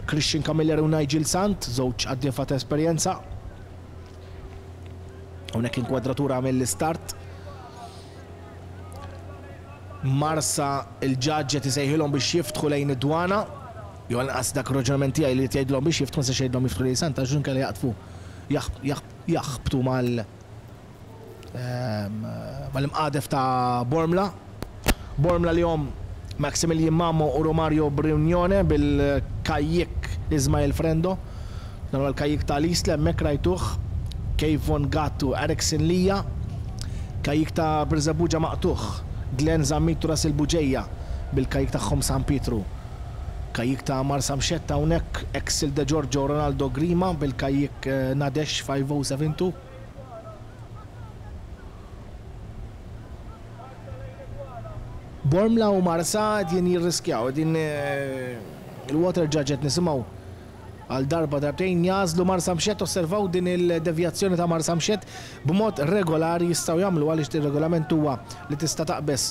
Christian Camilleri u Nigel Sant, żewġ qaddiefa ta' esperjenza. Hawnhekk inkwadratura mill-istart. Marsa il-ġaġġ qed isejħilhom biex jiftħu lejn id-dwana. Jew anqas dak ir-raġunament tiegħi li tgħidilhom biex jiftħu, ma nistax jgħidilhom jiftħu lejn Santa għax inkella jaqtfu jaħbtu mal mal-imqadef ta' Bormla. Bormla li hom Maximilian Mamo u Romario Brignone bil-kajjik Ismael Frendo. Dan huwa l-kajjik tal-Isla hemmhekk rajtuh. Kevon Gattu, Erickson Lija. Kajjik ta' Birżebbuġa maqtuħ. Glenn Zammit u Russell Buġeja bil-kajjik tagħhom San Pietru. Kajjik ta' Marsamxett hawnhekk Axel De Giorgio Ronaldo Grima bil-kajjik Nadesh five oh seven two. Bormla u Marsa qegħdin jirriskjaw, qegħdin il-water judge qed nisimgħu għal darba darbtejn jażlu Marsamxett. Osservaw din il-devjazzjoni ta' Marsamxett b'mod regolari jistgħu jagħmlu għaliex ir-regolament huwa li tista' taqbeż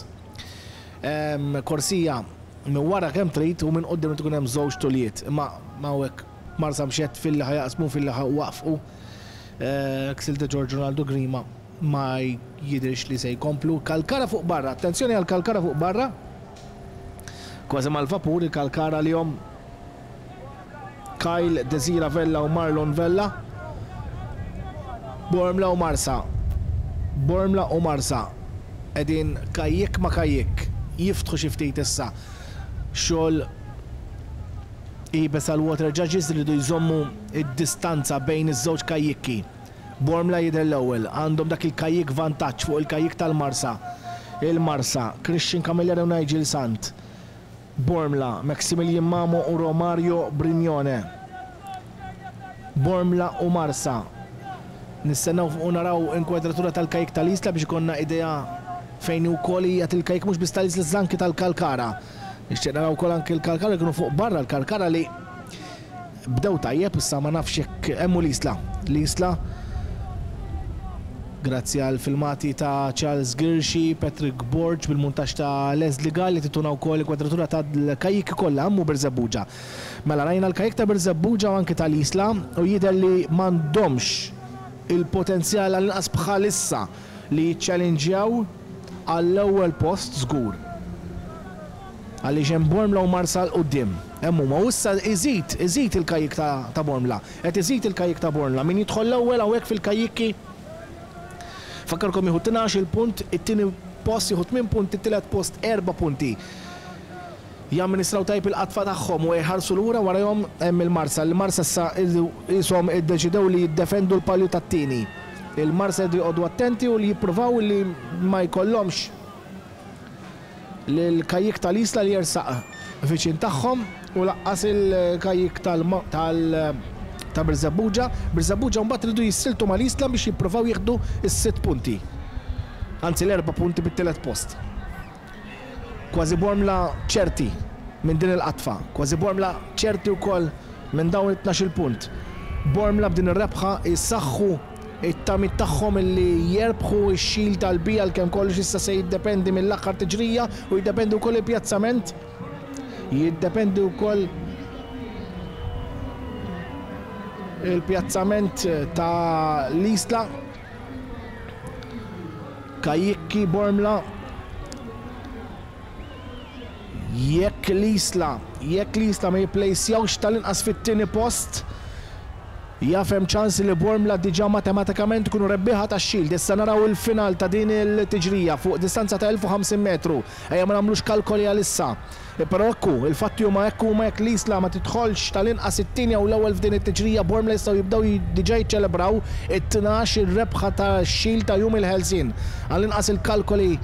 korsija minn wara kemm trid u minn quddiem tkun hemm żewġ tulijiet. Imma ma hawnhekk Marsamxett fil-li ħajaqsmu fil-li waqfqu Axel De Giorgio Ronaldo Grima ma jidhirx li se jkomplu. Kalkara fuq barra, attenzjoni għal Kalkara fuq barra. Kważi mal-vapur il-Kalkara li hom Kyle Desira Vella u Marlon Vella. Bormla u Marsa. Bormla u Marsa qegħdin kajjik ma kajjik jiftħu xi ftit issa. Xogħol iebes għal water judges li jridu jżommu id-distanza bejn iż-żewġ kajjikki. Bormla jidher l-ewwel, għandhom dak il-kajjik vantaġġ fuq il-kajjik tal-Marsa. Il-Marsa, Christian Camilleri u Nigel Sant. Bormla, Maximilian Mamo u Romario Brignone. Bormla u Marsa. Nistennew u naraw inkwadratura tal-kajjik tal-Isla biex ikollna idea fejn ukoll hija il-kajjik mhux biss tal-Isla iżda anki tal-Kalkara. Nixtieq naraw ukoll anki l-Kalkara kienu fuq barra, l-Kalkara li Bdew tajjeb, issa ma nafx jekk hemm l-Isla. L-Isla, grazzi għal filmati ta' Charles Girxi, Patrick Borg, bil-montaġġ ta' Leslie Gall li tituna wkoll inkwadratura tal-kajjik kollha hemm Birżebbuġa. Mela rajna l-kajjik ta' Birżebbuġa u anke tal-Isla u jidher li m'għandhomx il-potenzjal għall-inqas bħalissa li jiċċellinġjaw għall-ewwel post żgur. Għaliex hemm Bormla u Marsa 'l quddiem. Hemm huma u issa iżid, iżid il-kajjik ta' Bormla. Qed iżid il-kajjik ta' Bormla. Min jidħol l-ewwel hawnhekk fil-kajjikki fakkarkom jieħu tnax-il punt, it-tieni post jieħu tmien punti, it-tielet post erba' punti. Jamministraw tajjeb il-qatfa tagħhom u jħarsu lura warajhom hemm il-Marsa. Il-Marsa issa qishom iddeċidew li jiddefendu l-palju tat-tieni. Il-Marsa jridu joqogħdu attenti u li jippruvaw li ma jkollhomx l-kajjik tal-Isla li jersaq viċin tagħhom u laqqas il-kajjik tal ta' Birżebbuġa. Birżebbuġa mbagħad iridu jissiltu mal-Isla biex jippruvaw jieħdu s-sitt punti. Anzi l-erba' punti bit-tielet post. Kważi Bormla ċerti minn din il-qatfa, kważi Bormla ċerti wkoll minn dawn it-tnax-il punt. Bormla b'din ir-rebħa jsaħħu it-tamiet tagħhom illi jerbħu x-xil tal-bija għalkemm kollox issa se jiddependi mill-aħħar tiġrija u jiddependi wkoll il-pjazzament. Jiddependi wkoll il-pjazzament ta' l-Isla. Kajjikki Bormla. Jekk l-Isla, jekk l-Isla ma jipplejsjawx tal-inqas fit-tieni post, jaf hemm ċans li Bormla diġà matematikament ikunu rebbieħa tax-Shield. Issa naraw il-final ta' din il-tiġrija fuq distanza ta' elf u ħamsin metru. Ejja ma nagħmlux kalkoli għalissa. Però ekku, il-fatti huma hekk huma jekk l-Isla ma tidħolx tal-inqas it-tieni jew l-ewwel f'din it-tiġrija, Bormla jistgħu jibdew diġà jiċċelebraw it-tnax ir-rebħa tax-Shield ta' Jum il-Ħelsien. Għall-inqas il-kalkoli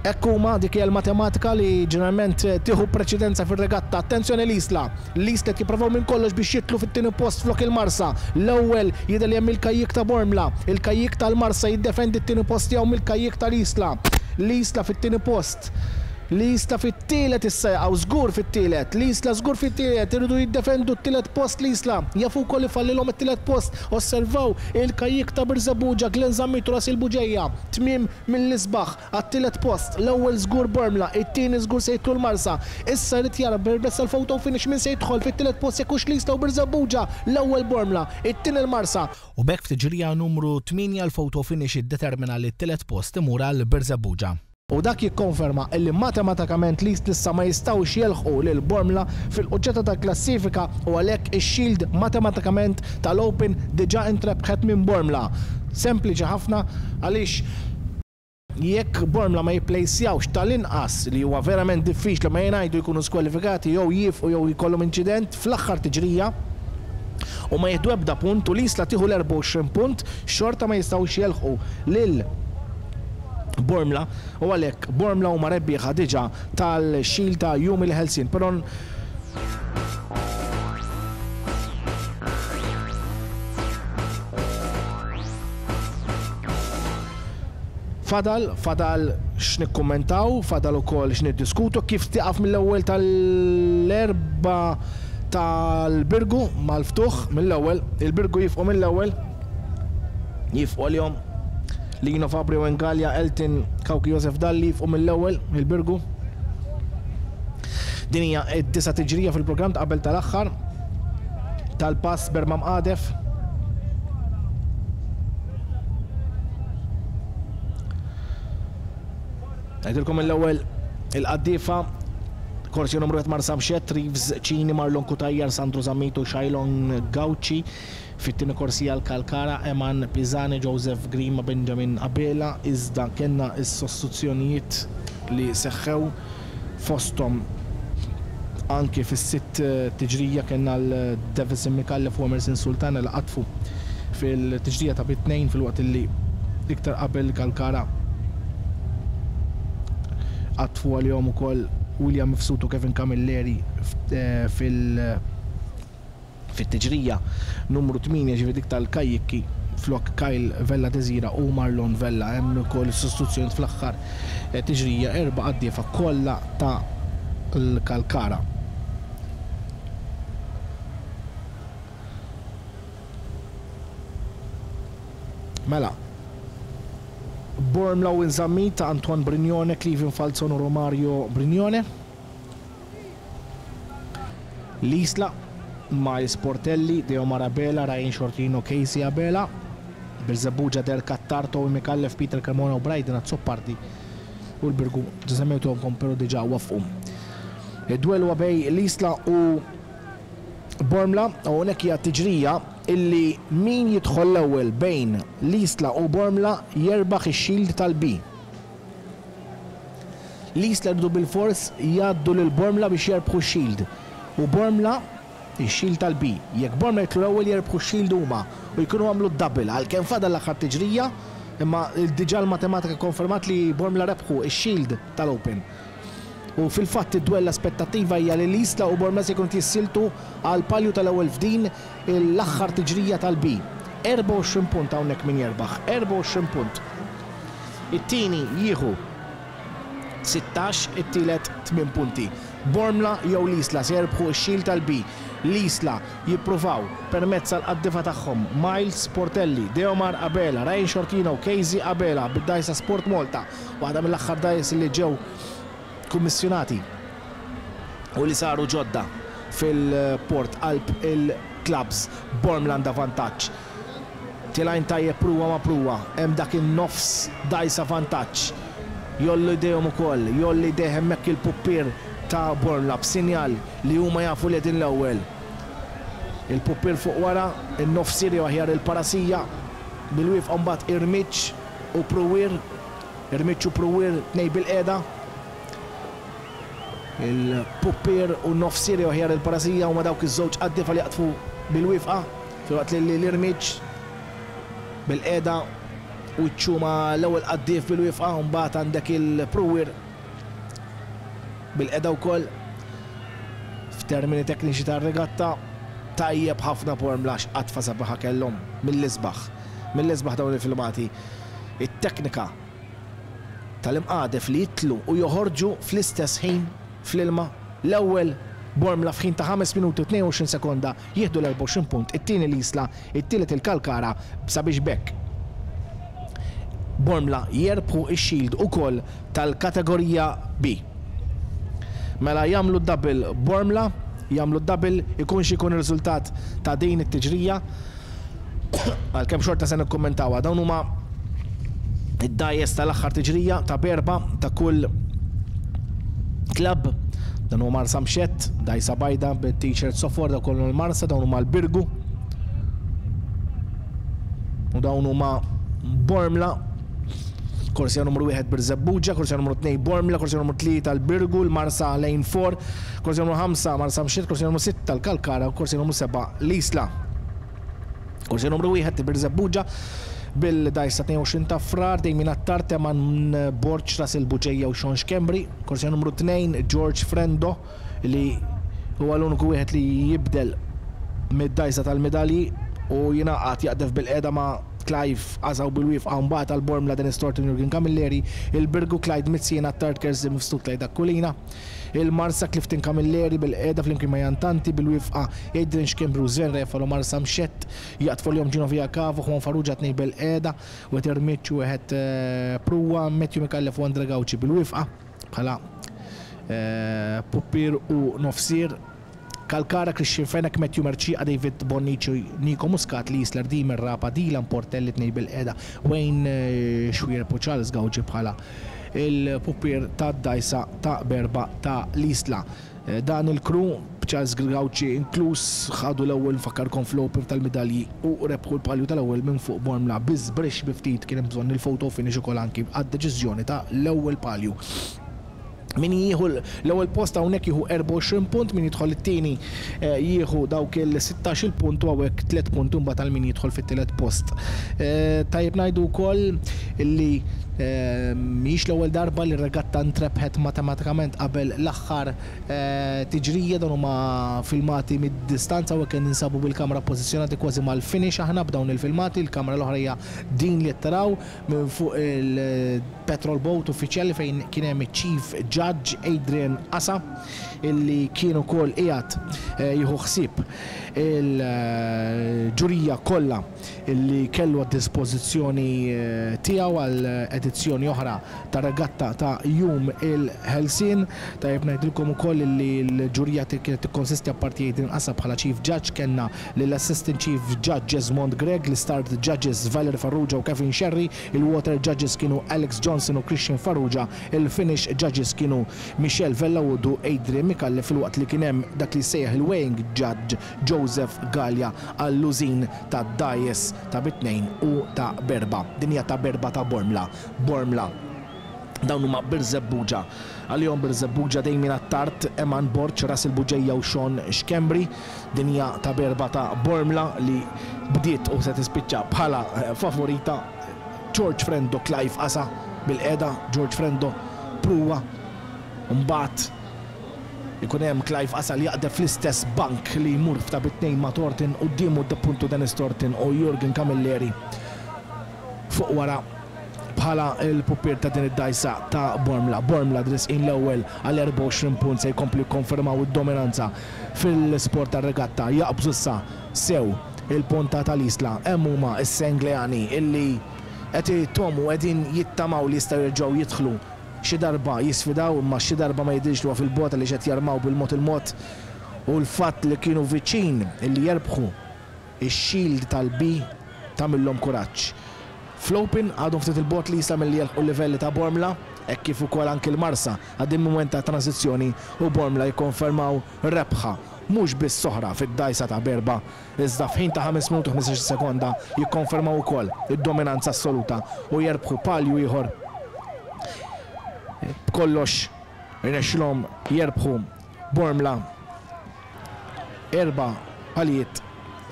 hekk huma, dik hija l-matematika li ġeneralment tieħu preċedenza fir-regatta. Attenzjoni l-Isla. L-Isla qed jipprovaw minn kollox biex jidħlu fit-tieni post flok il-Marsa. L-ewwel jidher li hemm il-kajjik ta' Bormla. Il-kajjik tal-Marsa jiddefendi t-tieni post tiegħu mill-kajjik tal-Isla. L-Isla fit-tieni post. L-Isla fit-tielet issa jaqgħu żgur fit-tielet. L-Isla żgur fit-tielet, iridu jiddefendu t-tielet post l-Isla. Jafu wkoll ifallilhom it-tielet post. Osservaw il-kajjik ta' Birżebbuġa, Glenn Zammit u Rasil Buġeja. Tmiem mill-isbaħ għat-tielet post. L-ewwel żgur Bormla, it-tieni żgur se jidħlu l-Marsa. Issa jrid jara permezz tal-photo finish min se jidħol fit-tielet post jekk hux l-Isla u Birżebbuġa. L-ewwel Bormla, it-tieni l-Marsa. U b'hekk f'tiġrija numru tmienja l-photo finish iddetermina li t-tielet post imur għal Birżebbuġa. U dak jikkonferma illi matematikament l-Isla issa ma jistgħux jelħqu lil Bormla fil-quċċata tal-klassifika u għalhekk ix-Shield matematikament tal-Open diġà intrebħet minn Bormla. Sempliċi ħafna għaliex jekk Bormla ma jipplejsjawx tal-inqas li huwa verament diffiċli ma jingħidu jkunu skwalifikati jew jifqu jew jkollhom inċident fl-aħħar tiġrija u ma jieħdu ebda punt u l-Isla tieħu l-erbgħa u għoxrin punt, xorta ma jistgħux jelħqu lil Bormla u għalhekk Bormla huma rebbieħa diġà tal-Shield ta' Jum il-Ħelsien. Però fadal, fadal x'nikkummentaw, fadal ukoll x'niddiskutu kif tieqaf mill-ewwel tal-erba' tal-Birgu mal-ftuħ mill-ewwel, il-Birgu jifqu mill-ewwel, jifqu għalihom Lino Fabri Wengalja, Elton Kawki Josef Dalli jifqu mill-ewwel il-Birgu. Din hija d-disa' tiġrija fil-programm ta' qabel tal-aħħar tal-pass Berma Mqadef. Ngħidilkom mill-ewwel il-qaddifa korsija numru wieħed Marsa Mxett, Reeves Cini, Marlon Cutajar, Sandro Zammit u Shailon Gauci. Fit-tieni korsija l-Kalkara, Eman Pisani, Joseph Grima, Benjamin Abela. Iżda kellna s-sostituzzjonijiet li seħħew fosthom anki fis-sitt tiġrija kellna l-Davison Micallef u Emerson Sultana li qatfu fil-tiġrija ta' bit-tnejn fil-waqt li iktar qabel Kalkara qatfu għalihom ukoll William Mifsud u Kevin Camilleri fil- fit-tiġrija numru tmienja ġifieri dik tal-kajjikki flok Kyle Vella Desira u Marlon Vella. Hemm ukoll sostituzzjoni fl-aħħar tiġrija erba' qaddiefa kollha ta' l-Kalkara. Mela, Bormla u Zammit ta' Antoine Brignone, Cleveland Falzon u Romario Brignone. L-Isla, Miles Portelli, Deo Abela, Ryan Shortino, Casey Abela. Birżebbuġa, Derek Attard, Micallef, Peter Cremona u Bryden Azzopardi, u l-Birgu ġa pero diġà wafqu. Id-duel huwa bejn l-Isla u Bormla, u hawnhekk hija tiġrija illi min jidħol l-ewwel bejn l-Isla u Bormla jerbaħ ix-shield tal-B. L-Isla jridu bil-fors jgħaddu lil Bormla biex jerbħu x-shield. U Bormla ix-shield tal-B. Jekk Bormla jidħlu l-ewwel, jerbħu x-shield huma u jkunu għamlu d-double, għalkemm fadal l-aħħar tiġrija, imma diġà l-matematika konfermat li Bormla rebħu ix-shield tal-Open. U fil-fatt id-dwell, l-aspettattiva hija li l-Isla u Bormla se jkunu jissieltu għal palju tal-ewwel f'din l-aħħar tiġrija tal-B. erbgħa u għoxrin punt hawnhekk min jerbaħ, erbgħa u għoxrin punt. It-tieni jieħu sittax, it-tielet tmien punti. Bormla jew l-Isla se jerbħu x-shield tal-B. L-Isla jippruvaw permezz tal-qaddifa tagħhom Miles Portelli, Deomar Abela, Ryan Shortino, Casey Abela bid-dgħajsa Sport Malta, waħda mill-aħħar dgħajjes li ġew kummissjonati u li saru ġodda fil-port qalb il-clubs. Bormla għandha vantaġġ. Tilajn tajjeb pruwa ma' pruwa, hemm dak in-nofs dgħajsa vantaġġ. Jgħollu jdejhom ukoll, jgħolli jdejh hemmhekk il-puppier ta' Bormla b'sinjal li huma jafu li din l-ewwel. Il-puppier fuq wara, in-nofsier jew aħjar il-parasija, bil-wieqfa mbagħad irmiġġ u pruwier, irmiġġ u pruwier, tnejn bil-qiegħda. Il-puppier u n-nofsier jew aħjar il-parasija huma dawk iż-żewġ qaddifa li jaqtfu bil-wieqfa, filwaqt li l-irmiġġ bil-qiegħda u ċ-ċuma l-ewwel qaddif bil-wieqfa, u mbagħad għandek il-pruwier bil-qiegħda wkoll. F'termini tekniċi tar-regatta, tajjeb ħafna Bormla, x'qadfa sabiħa kellhom, mill-isbaħ. Mill-isbaħ dawn il-filmati. It-teknika tal-imqadef li jidħlu u joħorġu fl-istess ħin fl-ilma. L-ewwel Bormla f'ħin ta' ħames minuti u tnejn u għoxrin sekonda jieħdu l-erbgħa u għoxrin punt, it-tieni l-Isla, it-tielet il-Kalkara, sabiex b'hekk Bormla jerbħu ix-shield ukoll tal-kategorija B. Mela jagħmlu double Bormla, jagħmlu double ikun xi jkun ir-riżultat ta' din it-tiġrija. Għalkemm xorta se nikkummentawha. Dawn huma id-dgħajjes tal-aħħar tiġrija ta' berba ta' kull club. Dan huwa Marsamxett, dgħajsa bajda bit-t-shirt sofor, dawn kollu l-Marsa, dawn huma l-Birgu. U dawn huma Bormla. Korsija numru wieħed Birżebbuġa, korsija numru tnejn Bormla, korsija numru tlieta l-Birgu, l-Marsa lane four, korsija numru ħamsa Marsamxett, korsija numru sitta l-Kalkara u korsija numru sebgħa l-Isla. Korsija numru wieħed Birżebbuġa bil-dgħajsa tnejn u għoxrin ta' Frar, Dejmin Attard, Teman Borġ, Ras il-Buġeja u Sean Schembri. Korsija numru tnejn George Frendo, li huwa l-uniku wieħed li jibdel mid-dgħajsa tal-medalji u jingħaqad jaqdef bil-qiegħda ma' Clive Azaw bil-wieqfa. Mbagħad għal-Bormla Dennis Thornton, Jurgen Camilleri, il-Birgu Clyde Mizzi, Attard, Kersi Mifsud, Clyde Aquilina, il-Marsa Clifton Camilleri bil-qiegħda flimkien ma' Jantanti, bil-wieqfa Adrian Schembri u Sven Refalo. Marsamxett jaqtfu l-jom Gino Via Cavo, Juan Farrugia, tnejn bil-qiegħda, u għet Irmiċ u għet Pruwa, Matthew Micallef u Andre Gauci bil-wieqfa bħala eh, puppier u nofsier. Kalkara, Christian Fenech, Matthew Mercieca, David Bonnici, Nico Muscat, L-Isla Dimer Rapa, Dylan Portelli, tnejn bil-qiegħda, Wayne eh, Xuereb u Charles Gauci bħala il-puppier ta' dgħajsa ta' berba ta' l-Isla. Eh, Dan il-crew, Charles Gauci inkluż, ħadu l-ewwel, nfakkarkom, fl-Open tal-medalji u rebħu l-palju tal-ewwel minn fuq Bormla biż bi ftit. Kien hemm bżonn il-photo finish ukoll anki għad-deċiżjoni ta' l-ewwel palju. Min jieħu l-ewwel post hawnhekk jieħu erbgħa u għoxrin punt, min jidħol it-tieni eh, jieħu dawk il-sittax il punt u hawnhekk tliet punt mbagħad għal min jidħol fit-tielet post. Eh, Tajjeb ngħidu wkoll illi eh, mhijiex l-ewwel darba li r-regatta ntrebħet matematikament qabel l-aħħar tiġrija. Dan huma filmati mid-distanza u kien ninsabu bil-kamra pożizzjonati kważi mal-finish aħna b'dawn il-filmati. Il-kamra l-oħra hija din li taraw minn fuq il-petrol boat uffiċjali fejn kien hemm chief judge. Judge Adrian Asa, illi kien ukoll qiegħed jieħu ħsieb il-ġurija kollha illi kellu għad-dispożizzjoni tiegħu għal edizzjoni oħra ta' regatta ta' Jum il-Ħelsien. Tajjeb ngħidilkom ukoll illi l-ġurija kienet tikkonsisti, apparti Adrian Asa bħala Chief Judge, kellna lill-Assistant Chief Judge Esmond Grech, l-Start Judges Valerie Farrugia u Kevin Sherry, il-Water Judges kienu Alex Johnson u Christian Farrugia, il-Finish Judges kienu Michelle Vella u Adrian Micallef, filwaqt li kien hemm dak li sejjaħ il-Weighing Judge Joseph Gallia għall-użin ta' dgħajjes ta' bi tnejn u ta' b'erbgħa. Din hija ta' b'erbgħa ta' Bormla. Bormla. Dawn huma Birżebbuġa. Għalihom Birżebbuġa Dejmin Attard, Eman Borg, Russell Buġeja u Sean Schembri. Din hija ta' b'erbgħa ta' Bormla li bdiet u se tispiċċa bħala favorita. George Frendo, Clive Asa bil-qeda, George Frendo pruwa. Mbagħad ikun hemm Clive Asa li jaqdef fl-istess bank li jmur f'ta' bi tnejn ma' Thornton, quddiemu appuntu Dennis Thornton u Jurgen Camilleri fuq wara bħala il-puppier ta' din id-dgħajsa ta' Bormla. Bormla resqin l-ewwel għal erbgħa u għoxrin punt, se jkomplu jikkonfermaw id-dominanza fil-sport tar-regatta, jaqbżu issa sew il-ponta tal-Isla. Hemm huma s-Sengleani illi qed jittomu, qegħdin jittamaw li jistgħu jerġgħu jidħlu xi darba jisfidaw, imma xi darba ma jidhirx li huwa fil-bogħod li qed jarmaw bil-mod il-mod, u l-fatt li kienu viċin illi jerbħu ix-shield tal-B tagħmilhom kuraġġ. Fl-Open għadhom ftit il-bogħod li jista' milli jelħqu livelli ta' Bormla, hekk kif ukoll anki l-Marsa għaddejjin mument ta' transizzjoni, u Bormla jikkonfermaw rebħa mhux biss oħra fid-dgħajsa ta' b'erbgħa, iżda f'ħin ta' ħames minuti u ħmistax-il sekonda jikkonfermaw ukoll id-dominanza assoluta u jerbħu palju ieħor. B'kollox irnexxilhom jerbħu Bormla erba' palijiet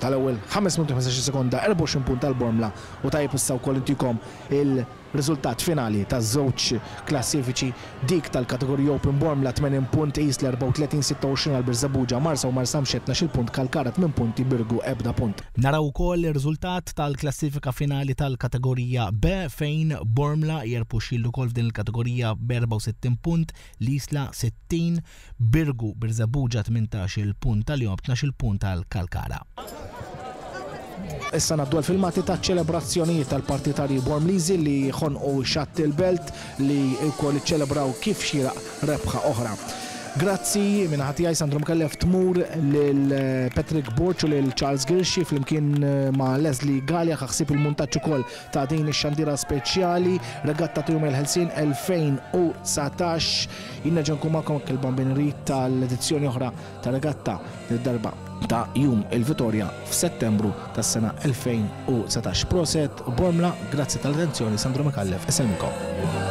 tal-ewwel ħames minuti u ħmistax-il sekonda, erbgħa u għoxrin punt tal-Bormla. U tajjeb issa wkoll intikom il-riżultat finali taż-żewġ klassifiċi, dik tal-kategorija Open: Bormla tmenin punt, Isla erbgħa u tletin, sitta u għoxrin għal Birżebbuġa, Marsa u Marsamxett tnax-il punt, Kalkara tmien punti, Birgu ebda punt. Naraw ukoll ir-riżultat tal-klassifika finali tal-kategorija B, fejn Bormla jerbħu shield ukoll f'din il-kategorija b'erbgħa u sittin punt, l-Isla sittin, Birgu, Birżebbuġa tmintax-il punt tal-jom, tnax-il punt tal-Kalkara. Issa ngħaddu għal-filmati ta' ċelebrazzjonijiet tal-partitarji Bormliżi li ħonqu xatt il-Belt, li wkoll iċċelebraw kif xieraq rebħa oħra. Grazzi minn ħati għaj Sandro Micallef tmur lil Patrick Borg u lil Charles Girxi flimkien ma' Leslie Gallia ħaħsib il-montaġġ ukoll ta' din ix-xandira speċjali Regatta ta' Jum il-Ħelsien elfejn u dsatax. Jien nerġa' nkun magħkom il-Bambin Rit tal-edizzjoni oħra ta' Regatta darba ta' Jum il-Vitorja f'Settembru tas-sena elfejn u dsatax. Prosit Bormla, grazzi tal-attenzjoni, Sandro Micallef, isellmikom.